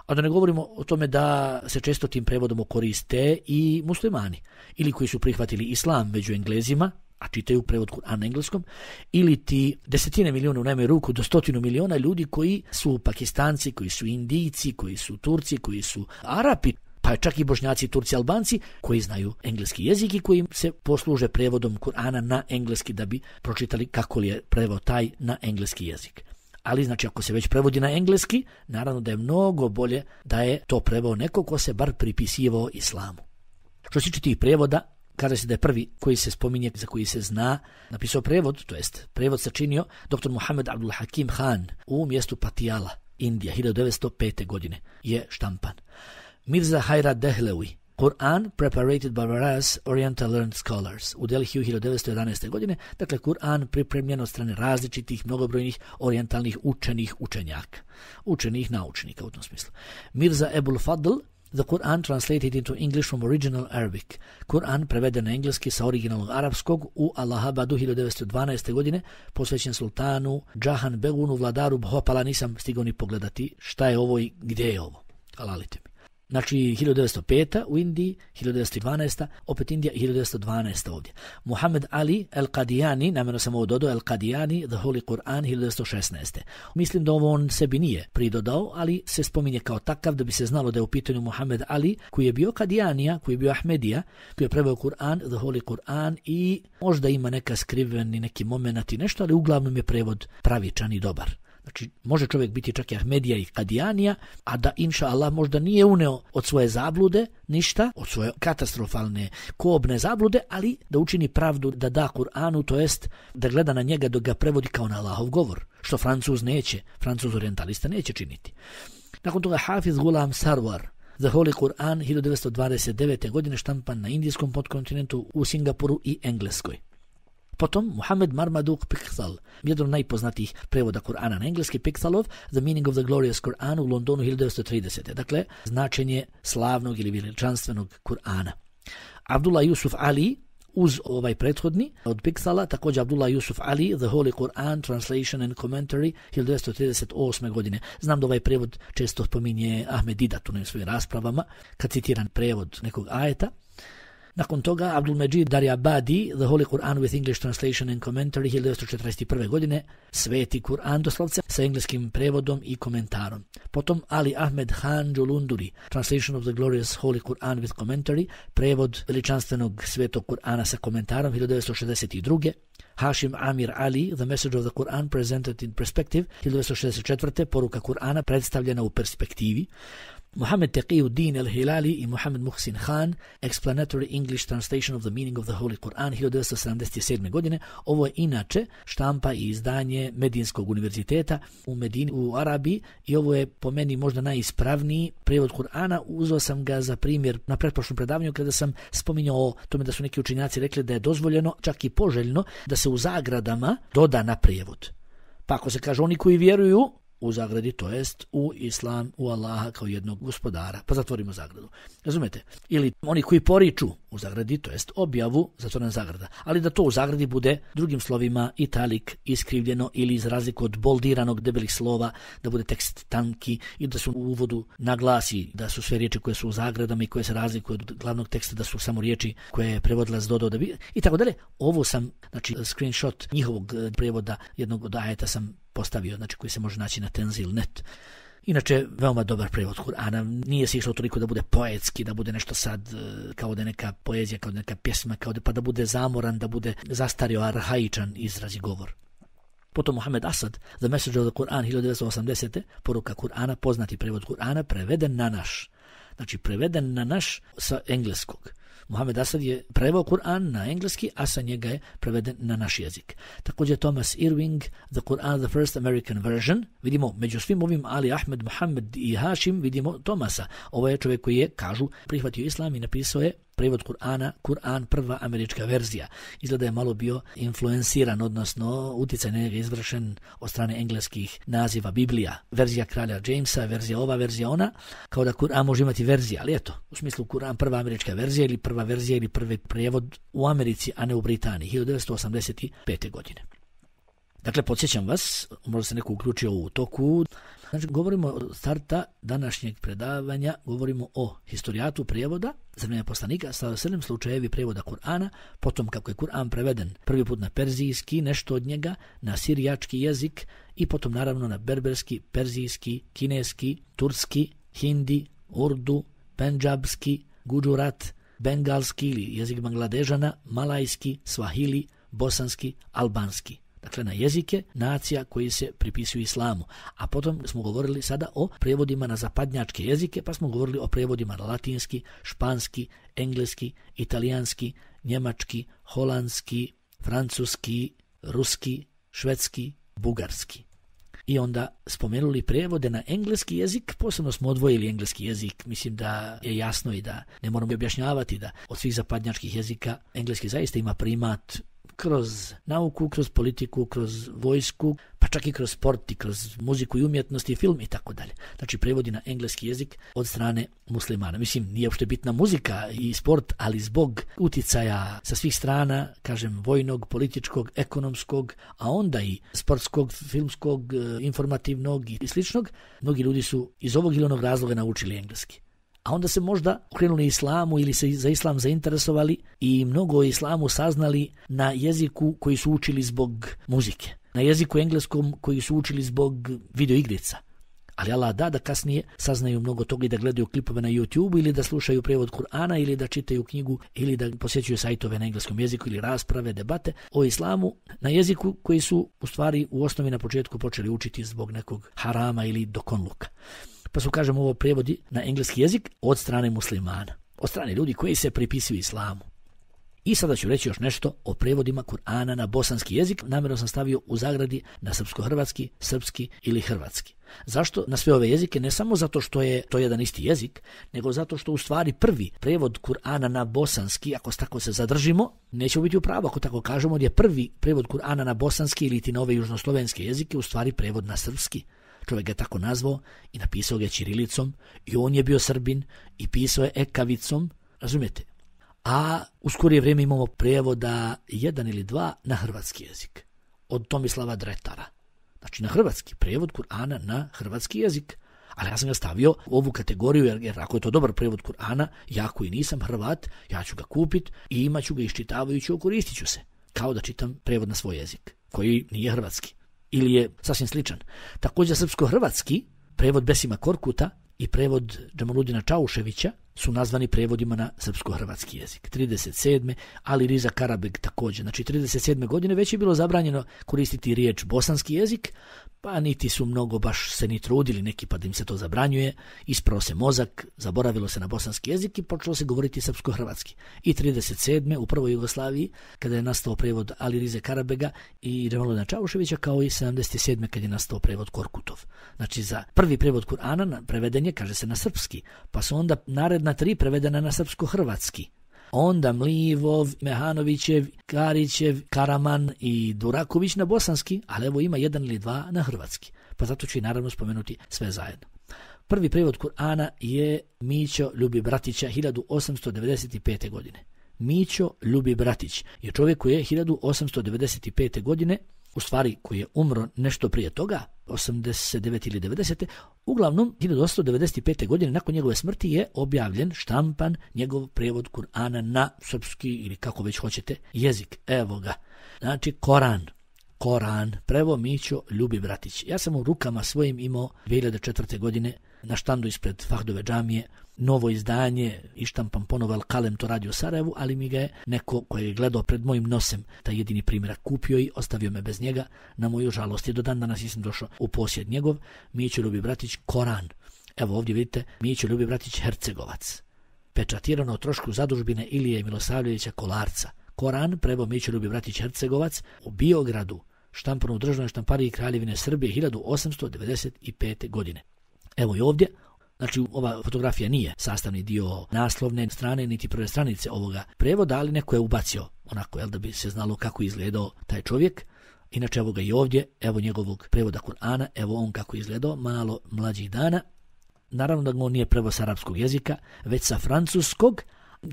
A da ne govorimo o tome da se često tim prevodom koriste i muslimani, ili koji su prihvatili islam među Englezima, a čitaju prevod Kur'ana na engleskom, ili ti desetine milijuna, u najmanju ruku do 100 miliona ljudi koji su Pakistanci, koji su Indijci, koji su Turci, koji su Arapi, pa čak i Bošnjaci, Turci, Albanci, koji znaju engleski jezik i koji se posluže prevodom Kur'ana na engleski da bi pročitali kako li je prevod taj na engleski jezik. Ali znači ako se već prevodi na engleski, naravno da je mnogo bolje da je to preveo neko ko se bar pripisivao islamu. Što se tiče tih prevoda, Kaže se da je prvi koji se spominje, za koji se zna, napisao prevod, to jest prevod sačinio dr. Muhammad Abdul Hakim Khan u mjestu Patiala, Indija, 1905. godine je štampan. Mirza Hayrat Dehlevi, Quran preparated by various Oriental learned scholars u Delhiju 1911. godine, dakle Kur'an pripremljen od strane različitih mnogobrojnih orijentalnih učenjaka, učenih naučnika u tom smislu. Mirza Ebul Fadl, The Quran translated into English from original Arabic. Kur'an preveden na engleski sa originalnog arapskog u Allahabadu 1912. godine, posvećen sultanu Džahan Begunu, vladaru Bhopala. Nisam stigao ni pogledati šta je ovo i gdje je ovo. Halalite mi. Znači 1905. u Indiji, 1912. opet Indija, 1912. ovdje. Muhammed Ali al-Qadiani, namjerno sam ovo dodao, al-Qadiani, The Holy Quran, 1916. Mislim da ovo on sebi nije pridodao, ali se spominje kao takav da bi se znalo da je u pitanju Muhammed Ali, koji je bio Qadianija, koji je bio Ahmedija, koji je preveo Kur'an, The Holy Quran, i možda ima neka skriveni neki moment i nešto, ali uglavnom je prevod pravičan i dobar. Znači, može čovjek biti čak i Ahmedija i Kadijanija, a da, inša Allah, možda nije uneo od svoje zablude ništa, od svoje katastrofalne, kobne zablude, ali da učini pravdu, da da Kur'anu, to jest da gleda na njega dok ga prevodi kao na Allahov govor, što Francuz neće, Francuz orientalista neće činiti. Nakon toga Hafiz Ghulam Sarwar, The Holy Quran, 1929. godine, štampan na indijskom podkontinentu, u Singapuru i Engleskoj. Potom Muhammad Marmaduke Pickthall, jedan od najpoznatijih prevoda Kur'ana na engleski, Pickthallov The Meaning of the Glorious Quran u Londonu 1930. Dakle, značenje slavnog ili veličanstvenog Kur'ana. Abdullah Yusuf Ali, uz ovaj prethodni od Pickthalla, također Abdullah Yusuf Ali, The Holy Quran, Translation and Commentary, 1938. godine. Znam da ovaj prevod često spominje Ahmed Didat u svojim raspravama, kad citiran prevod nekog ajeta. Nakon toga Abdul Majid Daryabadi, The Holy Quran with English Translation and Commentary, 1941. godine, Sveti Kur'an doslovce sa engleskim prevodom i komentarom. Potom Ali Ahmed Khan Julunduri, Translation of the Glorious Holy Quran with Commentary, prevod veličanstvenog Svetog Kur'ana sa komentarom, 1962. Hashim Amir Ali, The Message of the Quran Presented in Perspective, 1964. Poruka Kur'ana predstavljena u perspektivi. Muhammad Taqiyuddin al-Hilali i Muhammad Muhsin Khan, Explanatory English Translation of the Meaning of the Holy Quran, 1977. godine. Ovo je inače štampa i izdanje Medinskog univerziteta u Medini u Arabiji i ovo je po meni možda najispravniji prevod Kur'ana. Uzeo sam ga za primjer na pretprošlom predavanju kada sam spominjao o tome da su neki učenjaci rekli da je dozvoljeno, čak i poželjno, da se u zagradama doda na prijevod. Pa ako se kaže oni koji vjeruju u zagradi, to jest u Islam, u Allaha kao jednog gospodara, pa zatvorimo zagradu. Razumete? Ili oni koji poriču u zagradi, to jest objavu, zatvorena zagrada. Ali da to u zagradi bude drugim slovima italik, iskrivljeno ili iz razliku od boldiranog debelih slova, da bude tekst tanki i da se u uvodu naglasi da su sve riječi koje su u zagradama i koje se razlikuju od glavnog teksta, da su samo riječi koje je prevodilac dodao da bi i tako dalje. Ovo sam, znači, screenshot njihovog prevoda jednog od ajeta sam postavio, znači koji se može naći na Tenzil.net. Inače, veoma dobar prevod Kur'ana. Nije se išlo toliko da bude poetski, da bude nešto sad kao da je neka poezija, kao da je neka pjesma, kao da, pa da bude zamoran, da bude zastario arhaičan izraz i govor. Potom Muhammad Asad, The Message of the Quran, 1980. Poruka Kur'ana, poznati prevod Kur'ana, preveden na naš. Znači, preveden na naš sa engleskog. Muhammad Asad je preveo Kur'an na engleski, a sa njega je preveden na naš jezik. Također Thomas Irving, The Quran, The First American Version. Vidimo, među svim ovim Ali, Ahmed, Muhammad i Hashim, vidimo Thomasa. Ovo je čovjek koji je, kažu, prihvatio islam i napisao je prevod Kur'ana, Kur'an prva američka verzija. Izgleda je malo bio influenciran, odnosno utjecaj na njega izvršen od strane engleskih naziva Biblija. Verzija kralja Jamesa, verzija ova, verzija ona, kao da Kur'an može imati verzija, ali eto, u smislu Kur'an prva američka verzija ili prva verzija ili prvi prevod u Americi, a ne u Britaniji, 1985. godine. Dakle, podsjećam vas, možda se neko uključio u toku. Znači, govorimo od starta današnjeg predavanja, govorimo o historijatu prijevoda za vrijeme poslanika, sa 7 slučajevi prijevoda Kur'ana, potom kako je Kur'an preveden prvi put na perzijski, nešto od njega, na sirijački jezik i potom naravno na berberski, perzijski, kineski, turski, hindi, urdu, pendžabski, guđurat, bengalski ili jezik Bangladežana, malajski, svahili, bosanski, albanski. Dakle, na jezike nacija koji se pripisuju islamu. A potom smo govorili sada o prevodima na zapadnjačke jezike, pa smo govorili o prevodima na latinski, španski, engleski, italijanski, njemački, holandski, francuski, ruski, švedski, bugarski. I onda spomenuli prijevode na engleski jezik, posebno smo odvojili engleski jezik, mislim da je jasno i da ne moramo objašnjavati da od svih zapadnjačkih jezika engleski zaista ima primat kroz nauku, kroz politiku, kroz vojsku, pa čak i kroz sport i kroz muziku i umjetnost i film i tako dalje. Znači prevodi na engleski jezik od strane muslimana. Mislim, nije uopšte bitna muzika i sport, ali zbog uticaja sa svih strana, kažem, vojnog, političkog, ekonomskog, a onda i sportskog, filmskog, informativnog i sličnog, mnogi ljudi su iz ovog ili onog razloga naučili engleski. A onda se možda okrenuli islamu ili se za islam zainteresovali i mnogo o islamu saznali na jeziku koji su učili zbog muzike, na jeziku engleskom koji su učili zbog videoigrica. Ali Allah da kasnije saznaju mnogo toga i da gledaju klipove na YouTube ili da slušaju prijevod Kur'ana ili da čitaju knjigu ili da posjećuju sajtove na engleskom jeziku ili rasprave, debate o islamu na jeziku koji su u stvari u osnovi na početku počeli učiti zbog nekog harama ili dokonluka. Pa su, kažem, ovo prijevodi na engleski jezik od strane muslimana, od strane ljudi koji se pripisuju islamu. I sada ću reći još nešto o prevodima Kur'ana na bosanski jezik. Namjerno sam stavio u zagradi na srpsko-hrvatski, srpski ili hrvatski. Zašto na sve ove jezike? Ne samo zato što je to jedan isti jezik, nego zato što u stvari prvi prevod Kur'ana na bosanski, ako tako se zadržimo, nećemo biti u pravu ako tako kažemo, jer je prvi prevod Kur'ana na bosanski ili ti na ove južnoslovenske jezike u stvari prevod na srpski. Čovjek ga tako nazvao i napisao ga ćirilicom i on je bio Srbin i pisao je ekavicom, razumijete? A u skorije vrijeme imamo prevoda 1 ili 2 na hrvatski jezik od Tomislava Dretara. Znači na hrvatski, prevod Kur'ana na hrvatski jezik. Ali ja sam ga stavio u ovu kategoriju jer ako je to dobar prevod Kur'ana, ja koji nisam Hrvat, ja ću ga kupiti i imat ću ga iščitavajući, koristit ću se. Kao da čitam prevod na svoj jezik koji nije hrvatski. Ili je sasvim sličan. Također srpsko-hrvatski, prevod Besima Korkuta i prevod Džamaludina Čauševića su nazvani prevodima na srpsko-hrvatski jezik. 37. Ali Riza Karabeg također. Znači 37. godine već je bilo zabranjeno koristiti riječ bosanski jezik, pa niti su mnogo baš se ni trudili neki pa da im se to zabranjuje. Isprao se mozak, zaboravilo se na bosanski jezik i počelo se govoriti srpsko-hrvatski. I 37. u prvoj Jugoslaviji kada je nastao prevod Ali Rize Karabega i Džamaludina Čauševića, kao i 77. kad je nastao prevod Korkutov. Znači za prvi prevod Kur'ana preveden je, kaže se, na srpski, pa su onda naredna 3 prevedena na srpsko-hrvatski. Onda Mlivov, Mehanovićev, Karićev, Karaman i Duraković na bosanski, ali evo ima 1 ili 2 na hrvatski. Pa zato ću i naravno spomenuti sve zajedno. Prvi prevod Kur'ana je Mićo Ljubi Bratića 1895. godine. Mićo Ljubi Bratić je čovjek koji je 1895. godine, u stvari koji je umro nešto prije toga, 89 ili 90. Uglavnom, 1895. godine nakon njegove smrti je objavljen, štampan, njegov prevod Kur'ana na srpski ili kako već hoćete jezik. Evo ga. Znači Koran, prevo Mićo Ljubi Bratić. Ja sam u rukama svojim imao 2004. godine na štandu ispred Fahdove džamije novo izdanje, ištampan ponovo Kalem to radi u Sarajevu, ali mi ga je neko koji je gledao pred mojim nosem taj jedini primjerak kupio i ostavio me bez njega. Na moju žalost, i do dan danas nisam došao u posjed njegov. Mićo Ljubi Bratić, Koran. Evo ovdje vidite, Mićo Ljubi Bratić, Hercegovac. Pečatirano o trošku zadužbine Ilije Milosavljevića Kolarca. Koran, prevo Mićo Ljubi Bratić, Hercegovac, u Biogradu, štampano u državnoj štampariji Kraljevine Srbije 1895. godine. Evo i ovdje, znači ova fotografija nije sastavni dio naslovne strane niti prve stranice ovoga prevoda, ali neko je ubacio onako, da bi se znalo kako izgledao taj čovjek. Inače evo ga i ovdje, evo njegovog prevoda Kur'ana, evo on kako izgledao, malo mlađih dana. Naravno da on nije prevod sa arapskog jezika, već sa francuskog.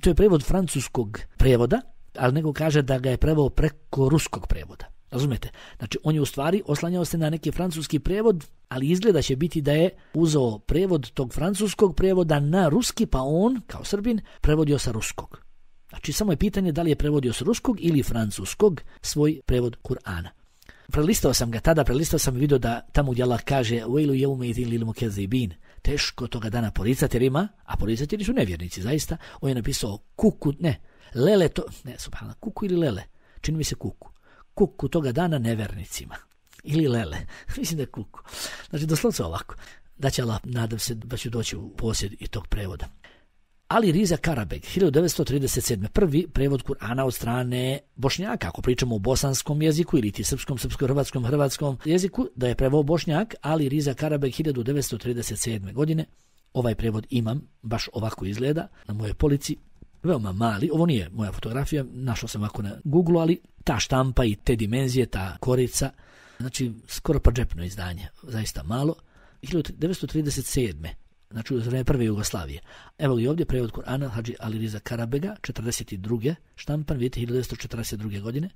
To je prevod francuskog prevoda, ali neko kaže da ga je preveo preko ruskog prevoda. Razumete? Znači, on je u stvari oslanjao se na neki francuski prevod, ali izgleda će biti da je uzeo prevod tog francuskog prevoda na ruski, pa on, kao Srbin, prevodio sa ruskog. Znači, samo je pitanje da li je prevodio sa ruskog ili francuskog svoj prevod Kur'ana. Prelistao sam ga tada, i vidio da tamo gdje Allah kaže وَيْلُ يَوْمَيْذٍ لِلْمُكَذِّبِينَ, teško toga dana poricateljima, a poricatelji su nevjernici, zaista. On je napisao kuku, lele to, subhanallah, kuku ili lele, čini mi se kuku toga dana nevernicima. Ili lele. Mislim da je kuku. Znači, doslovce ovako. Da će Allah, nadam se da ću doći u posjed i tog prevoda. Ali Riza Karabek, 1937. Prvi prevod Kur'ana od strane Bošnjaka, ako pričamo o bosanskom jeziku ili ti srpskom, hrvatskom jeziku, da je preveo Bošnjak, Ali Riza Karabek 1937. godine. Ovaj prevod imam, baš ovako izgleda, na mojoj polici, veoma mali, ovo nije moja fotografija, našao sam ovako na Google, ali ta štampa i te dimenzije, ta korica, znači skoro pa džepno izdanje, zaista malo, 1937. Znači u vreme prve Jugoslavije. Evo i ovdje prevod Kur'ana Hadži Ali Riza Karabega, 42. štampan, vidite, 1942. godine.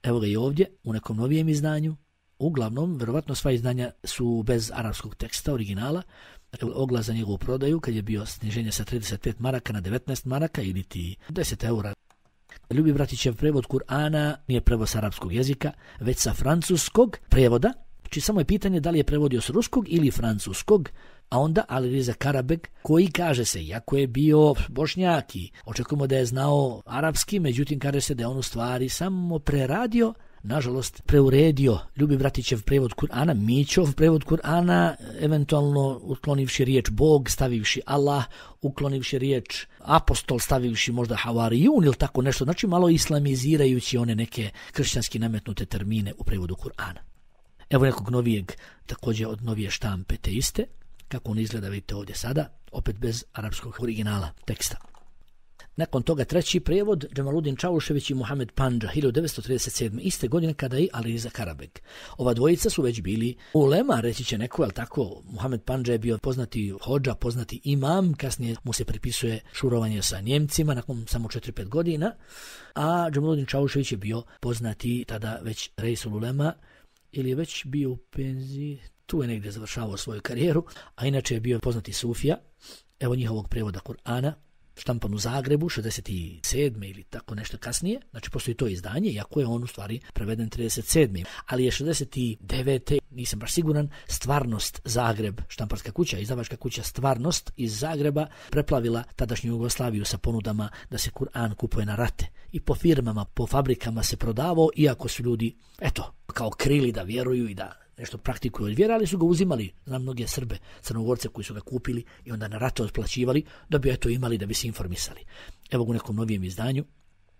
Evo ga i ovdje, u nekom novijem izdanju. Uglavnom, verovatno sva izdanja su bez arapskog teksta, originala. Oglas za njegovu prodaju, kad je bio sniženje sa 35 maraka na 19 maraka ili ti 10 eura. Ljubi Bratićev prevod Kur'ana nije prevod sa arapskog jezika, već sa francuskog prevoda. Znači samo je pitanje da li je prevodio s ruskog ili francuskog, a onda Ali Riza Karabek, koji kaže se, iako je bio Bošnjak i očekujemo da je znao arapski, međutim kaže se da je on u stvari samo preradio, nažalost preuredio Ljubi Bratićev prevod Kur'ana, Mićov prevod Kur'ana, eventualno uklonivši riječ Bog, stavivši Allah, uklonivši riječ apostol, stavivši možda havarijun ili tako nešto, znači malo islamizirajući one neke kršćanski nametnute termine u prevodu Kur'ana. Evo nekog novijeg, također od novije štampe te iste, kako on izgleda vidite ovdje sada, opet bez arapskog originala teksta. Nakon toga treći prevod, Džemaludin Čaušević i Muhamed Pandža, 1937. iste godine kada i Ali Riza Karabek. Ova dvojica su već bili ulema, reći će neko, ali tako, Muhamed Pandža je bio poznati hodža, poznati imam, kasnije mu se pripisuje šurovanje sa Njemcima nakon samo 4-5 godina, a Džemaludin Čaušević je bio poznati tada već Reisul ulema, ili je već bio u penziji, tu je negdje završavao svoju karijeru, a inače je bio poznati sufija. Evo njihovog prevoda Kur'ana, štampan u Zagrebu, 67. ili tako nešto kasnije, znači postoji to izdanje, iako je on u stvari preveden 37. Ali je 69. nisam baš siguran, Stvarnost Zagreb, štamparska kuća, izdavačka kuća Stvarnost iz Zagreba, preplavila tadašnju Jugoslaviju sa ponudama da se Kur'an kupuje na rate. I po firmama, po fabrikama se prodavao, iako su ljudi, eto, kao krili da vjeruju i da nešto praktikuju od vjera, ali su ga uzimali, znam mnoge Srbe, Crnogorce koji su ga kupili i onda na rate otplaćivali da bi eto imali, da bi se informisali. Evo ga u nekom novijem izdanju,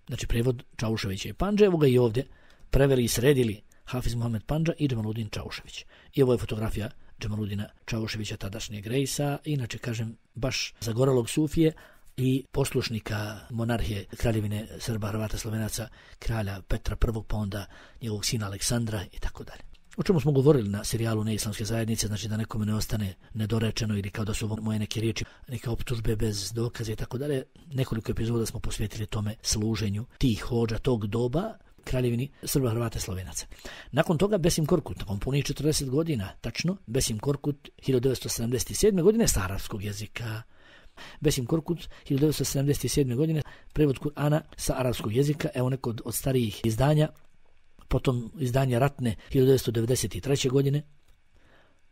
znači prevod Čauševića i Pandže, evo ga i ovdje, preveli i sredili Hafiz Muhamed Pandža i Džemaludin Čaušević. I ovo je fotografija Džemaludina Čauševića, tadašnjeg rejsa, inače kažem baš zagorelog sufije i poslušnika monarhije Kraljevine Srba, Hrvata, Slovenaca, kralja Petra I, pa onda njegovog sina Aleksandra i tako dalje. O čemu smo govorili na serijalu Neislamske zajednice, znači da nekome ne ostane nedorečeno ili kao da su moje neke riječi, neke optužbe bez dokaza i tako dalje. Nekoliko epizoda smo posvetili tome služenju tih hodža tog doba Kraljevini Srba, Hrvata, Slovenaca. Nakon toga Besim Korkut, nakon punih 40 godina, tačno, Besim Korkut 1977. godine s arapskog jezika. Besim Korkut 1977. godine prevod Kur'ana sa arapskog jezika, evo neko od starijih izdanja. Potom izdanje Ratne 1993. godine,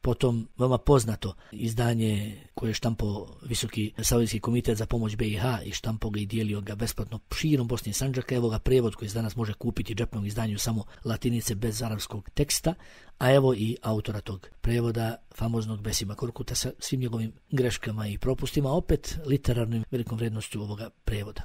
potom veoma poznato izdanje koje je štampao Visoki Saudijski komitet za pomoć BiH i štampao ga i dijelio ga besplatno širom Bosne i Sandžaka. Evo ga prevod koji se danas može kupiti u džepnom izdanju samo latinice bez arapskog teksta, a evo i autora tog prevoda, famoznog Besima Korkuta sa svim njegovim greškama i propustima, opet literarnom velikom vrednošću ovoga prevoda.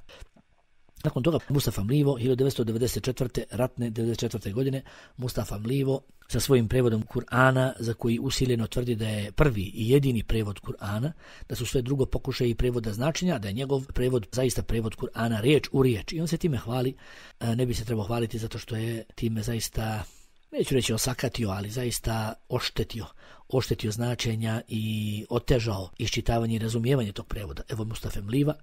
Nakon toga Mustafa Mlivo, 1994. Ratne 94. godine, Mustafa Mlivo sa svojim prevodom Kur'ana, za koji usiljeno tvrdi da je prvi i jedini prevod Kur'ana, da su sve drugo pokušaji prevoda značenja, da je njegov prevod zaista prevod Kur'ana riječ u riječ. I on se time hvali, ne bi se trebao hvaliti zato što je time zaista, neću reći osakatio, ali zaista oštetio značenja i otežao iščitavanje i razumijevanje tog prevoda. Evo Mustafa Mliva.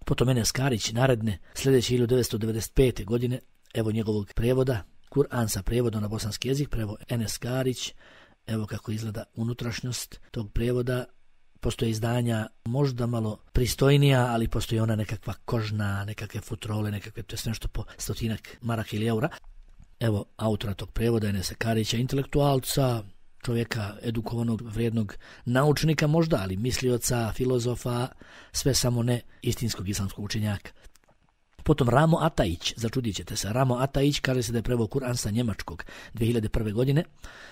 Potom Enes Karić, naredne, sljedeće 1995. godine, evo njegovog prevoda, Kur'an sa prevodom na bosanski jezik, prevod Enes Karić, evo kako izgleda unutrašnjost tog prevoda. Postoje izdanja možda malo pristojnija, ali postoji ona nekakva kožna, nekakve futrole, nekakve, to je nešto po 100 maraka ili eura. Evo autora tog prevoda, Enesa Karića, intelektualca, čovjeka edukovanog, vrijednog naučnika možda, ali mislioca, filozofa, sve samo ne istinskog islamskog učenjaka. Potom Ramo Atajić, začudit ćete se, Ramo Atajić kaže se da je preveo Kur'an sa njemačkog 2001. godine.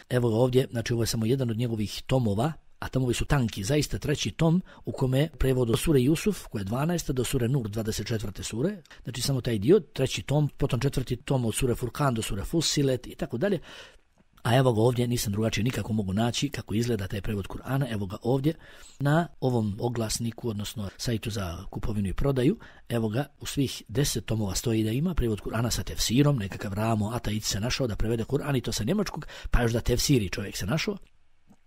Evo ga ovdje, znači ovo je samo jedan od njegovih tomova, a tomovi su tanki, zaista 3. tom u kome je prevod od sure Jusuf, koja je 12. do sure Nur, 24. sure, znači samo taj dio, 3. tom, potom 4. tom od sure Furkan do sure Fussilet i tako dalje. A evo ga ovdje, nisam drugačije nikako mogu naći kako izgleda taj prevod Kur'ana, evo ga ovdje na ovom oglasniku, odnosno sajtu za kupovinu i prodaju, evo ga u svih 10 tomova stoji da ima prevod Kur'ana sa tefsirom, nekakav Ramo Ataid se našao da prevede Kur'an i to sa njemačkog, pa još da tefsiri čovjek se našao.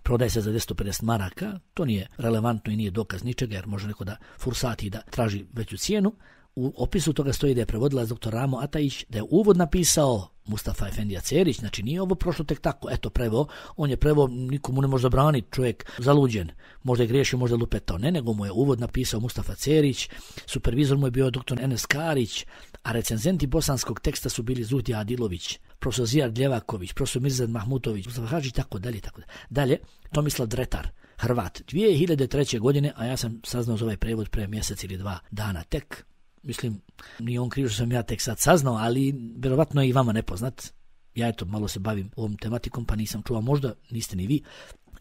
Prodaje se za 250 maraka, to nije relevantno i nije dokaz ničega jer može neko da fursati da traži veću cijenu. U opisu toga stoji da je prevodilac dr. Ramo Atajić, da je uvod napisao Mustafa Efendija Cerić, znači nije ovo prošlo tek tako, eto preveo, on je preveo, nikomu ne može zabraniti, čovjek zaluđen, možda je griješio, možda je lupetao, ne, nego mu je uvod napisao Mustafa Cerić, supervizor mu je bio dr. Enes Karić, a recenzenti bosanskog teksta su bili Zuhdija Adilović, profesor Zijad Ljevaković, profesor Mirzad Mahmutović, Mustafa Hadžić, tako dalje, tako dalje. Dalje, Tomislav Dretar, Hrvat, 2003. godine, a ja sam saznao za ovaj prevod pre mjesec ili 2 dana tek. Mislim, nije on kriv što sam ja tek sad saznao, ali vjerovatno je i vama nepoznat. Ja eto malo se bavim ovom tematikom, pa nisam čuo, možda niste ni vi.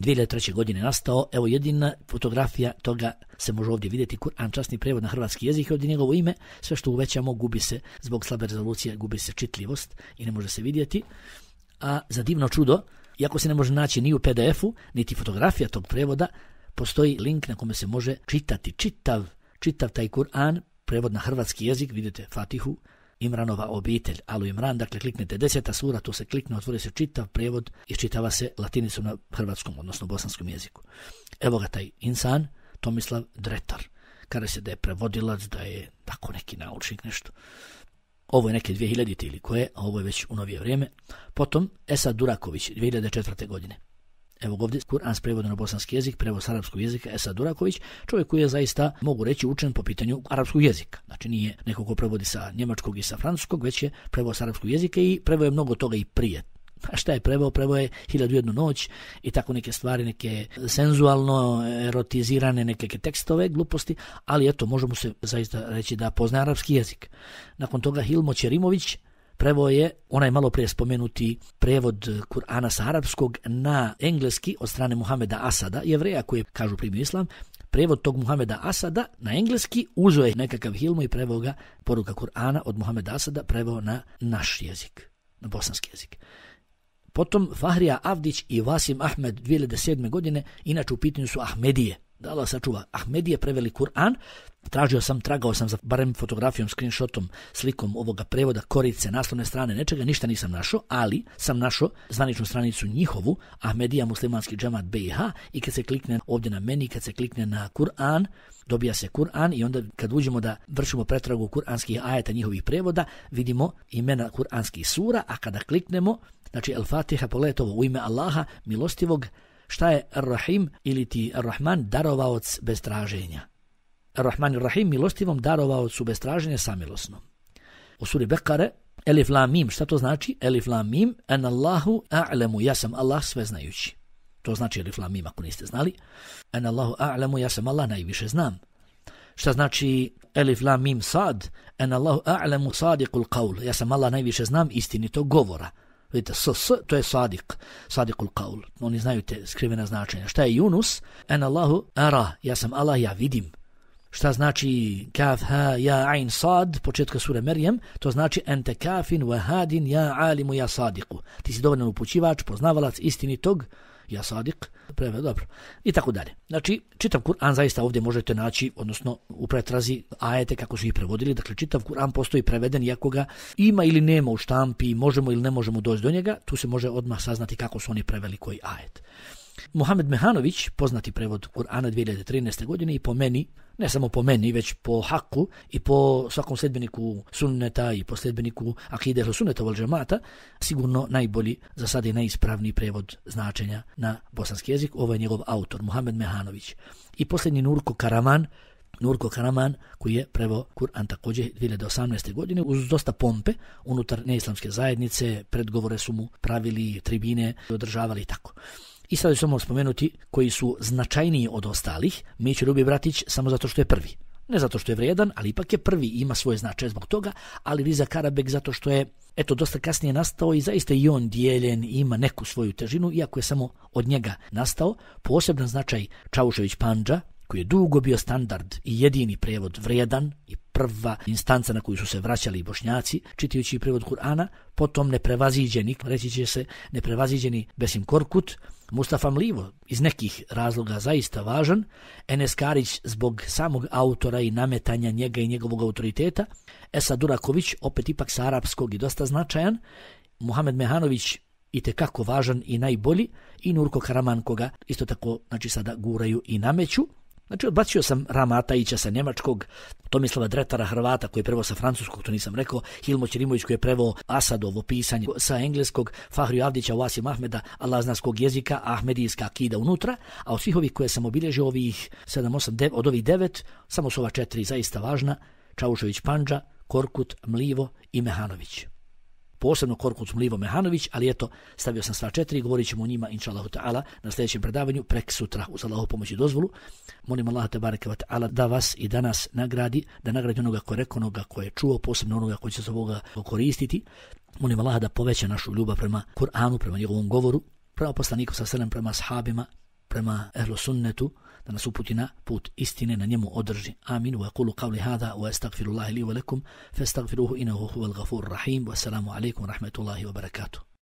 2003. godine nastao, evo jedina fotografija toga se može ovdje vidjeti, Kur'an časni prevod na hrvatski jezik, ovdje njegovo ime, sve što uvećamo gubi se, zbog slabe rezolucije gubi se čitljivost i ne može se vidjeti. A za divno čudo, iako se ne može naći ni u PDF-u, niti fotografija tog prevoda, postoji link na kome se može čitati čitav taj Kur'an, prevod na hrvatski jezik, vidite Fatihu, Imranova obitelj, Alu Imran, dakle kliknete 10. sura, to se klikne, otvori se čitav prevod i čitava se latinicom na hrvatskom, odnosno bosanskom jeziku. Evo ga taj insan, Tomislav Dretar, kaže se da je prevodilac, da je tako neki naučnik nešto. Ovo je neke 2000 ili koje, a ovo je već u novije vrijeme. Potom Esad Duraković, 2004. godine. Evo ovdje Kur'an s prevodom na bosanski jezik, prevod s arapskog jezika, Esad Duraković, čovjek koji je zaista, mogu reći, učen po pitanju arapskog jezika. Znači nije neko ko prevodi sa njemačkog i sa francuskog, već je prevod s arapskog jezika i preveo je mnogo toga i prije. A šta je preveo? Preveo je 1001 noć i tako neke stvari, neke senzualno erotizirane neke tekstove, gluposti, ali eto, možemo se zaista reći da poznaje arapski jezik. Nakon toga Hilmo Ćerimović preveo je onaj malo prije spomenuti prevod Kur'ana sa arapskog na engleski od strane Muhameda Asada, Jevreja koji kažu primio islam. Prevod tog Muhameda Asada na engleski uzeo je nekakav Hilmo i preveo ga, poruka Kur'ana od Muhameda Asada, preveo na naš jezik, na bosanski jezik. Potom Fahrija Avdić i Vasim Ahmed 2007. godine, inače u pitanju su Ahmedije. Da Allah sačuva, Ahmedije preveli Kur'an, tragao sam za barem fotografijom, screenshotom, slikom ovoga prevoda, korice, naslovne strane, nečega, ništa nisam našao, ali sam našao zvaničnu stranicu njihovu, Ahmedija muslimanski džemat BiH, i kad se klikne ovdje na meni, kad se klikne na Kur'an, dobija se Kur'an i onda kad uđemo da vršimo pretragu kuranskih ajeta njihovih prevoda, vidimo imena kuranskih sura, a kada kliknemo, znači El-Fatiha, pogledajte ovo, u ime Allaha, milostivog, šta je Ar-Rahim ili ti Ar-Rahman, darovaoc bez traženja. Ar-Rahman i Rahim, milostivom darovaocu bez traženja, samilosnom. U suri Bekare, Elif Lam Mim, šta to znači? Elif Lam Mim, en Allahu a'lemu, ja sam Allah sveznajući. To znači Elif Lam Mim, ako niste znali. En Allahu a'lemu, ja sam Allah najviše znam. Šta znači Elif Lam Mim Sad? En Allahu a'lemu sadiqul qaul, ja sam Allah najviše znam istinitog govora. Vidite, to je sadiqul qaul. Oni znaju te skrivena značenja. Šta je Yunus? En Allahu ara, ja sam Allah, ja vidim. Šta znači kaf, ha, ja, ain, sad, početka sure Merjem, to znači ente kafin, wahadin, ja, alimu, ja, sadiku. Ti si dovoljan upućivač, poznavalac istinitog, ja, sadik, preveo, dobro. I tako dalje. Znači, čitav Kur'an zaista ovdje možete naći, odnosno u pretrazi ajete kako su ih prevodili, dakle čitav Kur'an postoji preveden, iako ga ima ili nema u štampi, možemo ili ne možemo doći do njega, tu se može odmah saznati kako su oni preveli koji ajet. Muhammed Mehanović, poznati prevod Kur'ana 2013. godine i po meni, ne samo po meni, već po haku i po svakom sljedbeniku sunneta i po sljedbeniku akide ehlu sunneta wal džemata, sigurno najbolji, za sad je najispravniji prevod značenja na bosanski jezik. Ovo je njegov autor, Muhammed Mehanović. I posljednji Nurko Karaman, koji je preveo Kur'an također 2018. godine uz dosta pompe unutar neislamske zajednice, predgovore su mu pravili, tribine održavali i tako. I sad ću samo spomenuti koji su značajniji od ostalih, Mićo Ljubi Bratić samo zato što je prvi. ne zato što je vrijedan, ali ipak je prvi, ima svoje značaje zbog toga, ali Riza Karabek zato što je dosta kasnije nastao i zaista i on dijeljen i ima neku svoju težinu, iako je samo od njega nastao. Poseban značaj Čaušević Pandža, koji je dugo bio standard i jedini prijevod vrijedan i prva instanca na koju su se vraćali Bošnjaci, čitajući prijevod Kur'ana, potom neprevaziđeni, reći će se neprevaziđeni Besim Korkut, Mustafa Mlivo iz nekih razloga zaista važan, Enes Karić zbog samog autora i nametanja njega i njegovog autoriteta, Esad Duraković opet ipak sa arapskog i dosta značajan, Muhamed Mehanović itekako važan i najbolji i Nurko Karaman koga isto tako sada guraju i nameću. Znači, odbacio sam Rama Atajića sa njemačkog, Tomislava Dretara Hrvata koji je preveo sa francuskog, to nisam rekao, Hilmo Ćerimović koji je preveo Asadovo pisanje sa engleskog, Fahriju Avdića, Wasim Ahmeda, Allah zna s kog jezika, Ahmedijska akida unutra, a od svih ovih koje sam obilježio, ovih 7, 8, 9, od ovih 9, samo su ova 4 zaista važna, Čaušević Pandža, Korkut, Mlivo i Mehanović. Posebno Korkut, Mlivo, Mehanović, ali eto, stavio sam sva 4 i govorit ćemo o njima, inša Allahu ta'ala, na sljedećem predavanju, prek sutra, uz Allahu pomoć i dozvolu. Molim Allaha tebareke ve ta'ala da vas i da nas nagradi, da nagradi onoga ko je rekao, onoga ko je čuo, posebno onoga ko će se ovoga koristiti. Molim Allaha da poveća našu ljubav prema Kur'anu, prema njegovom govoru, prema poslaniku sa selem, prema ashabima, prema ehlu sunnetu, da nas uputi na put istine, na njemu održi. Amin. Wa aqulu qawli hadha wa astaghfirullaha li wa lakum fastaghfiruhu innahu huwal ghafurur rahim. Wassalamu alaykum wa rahmatullahi wa barakatuh.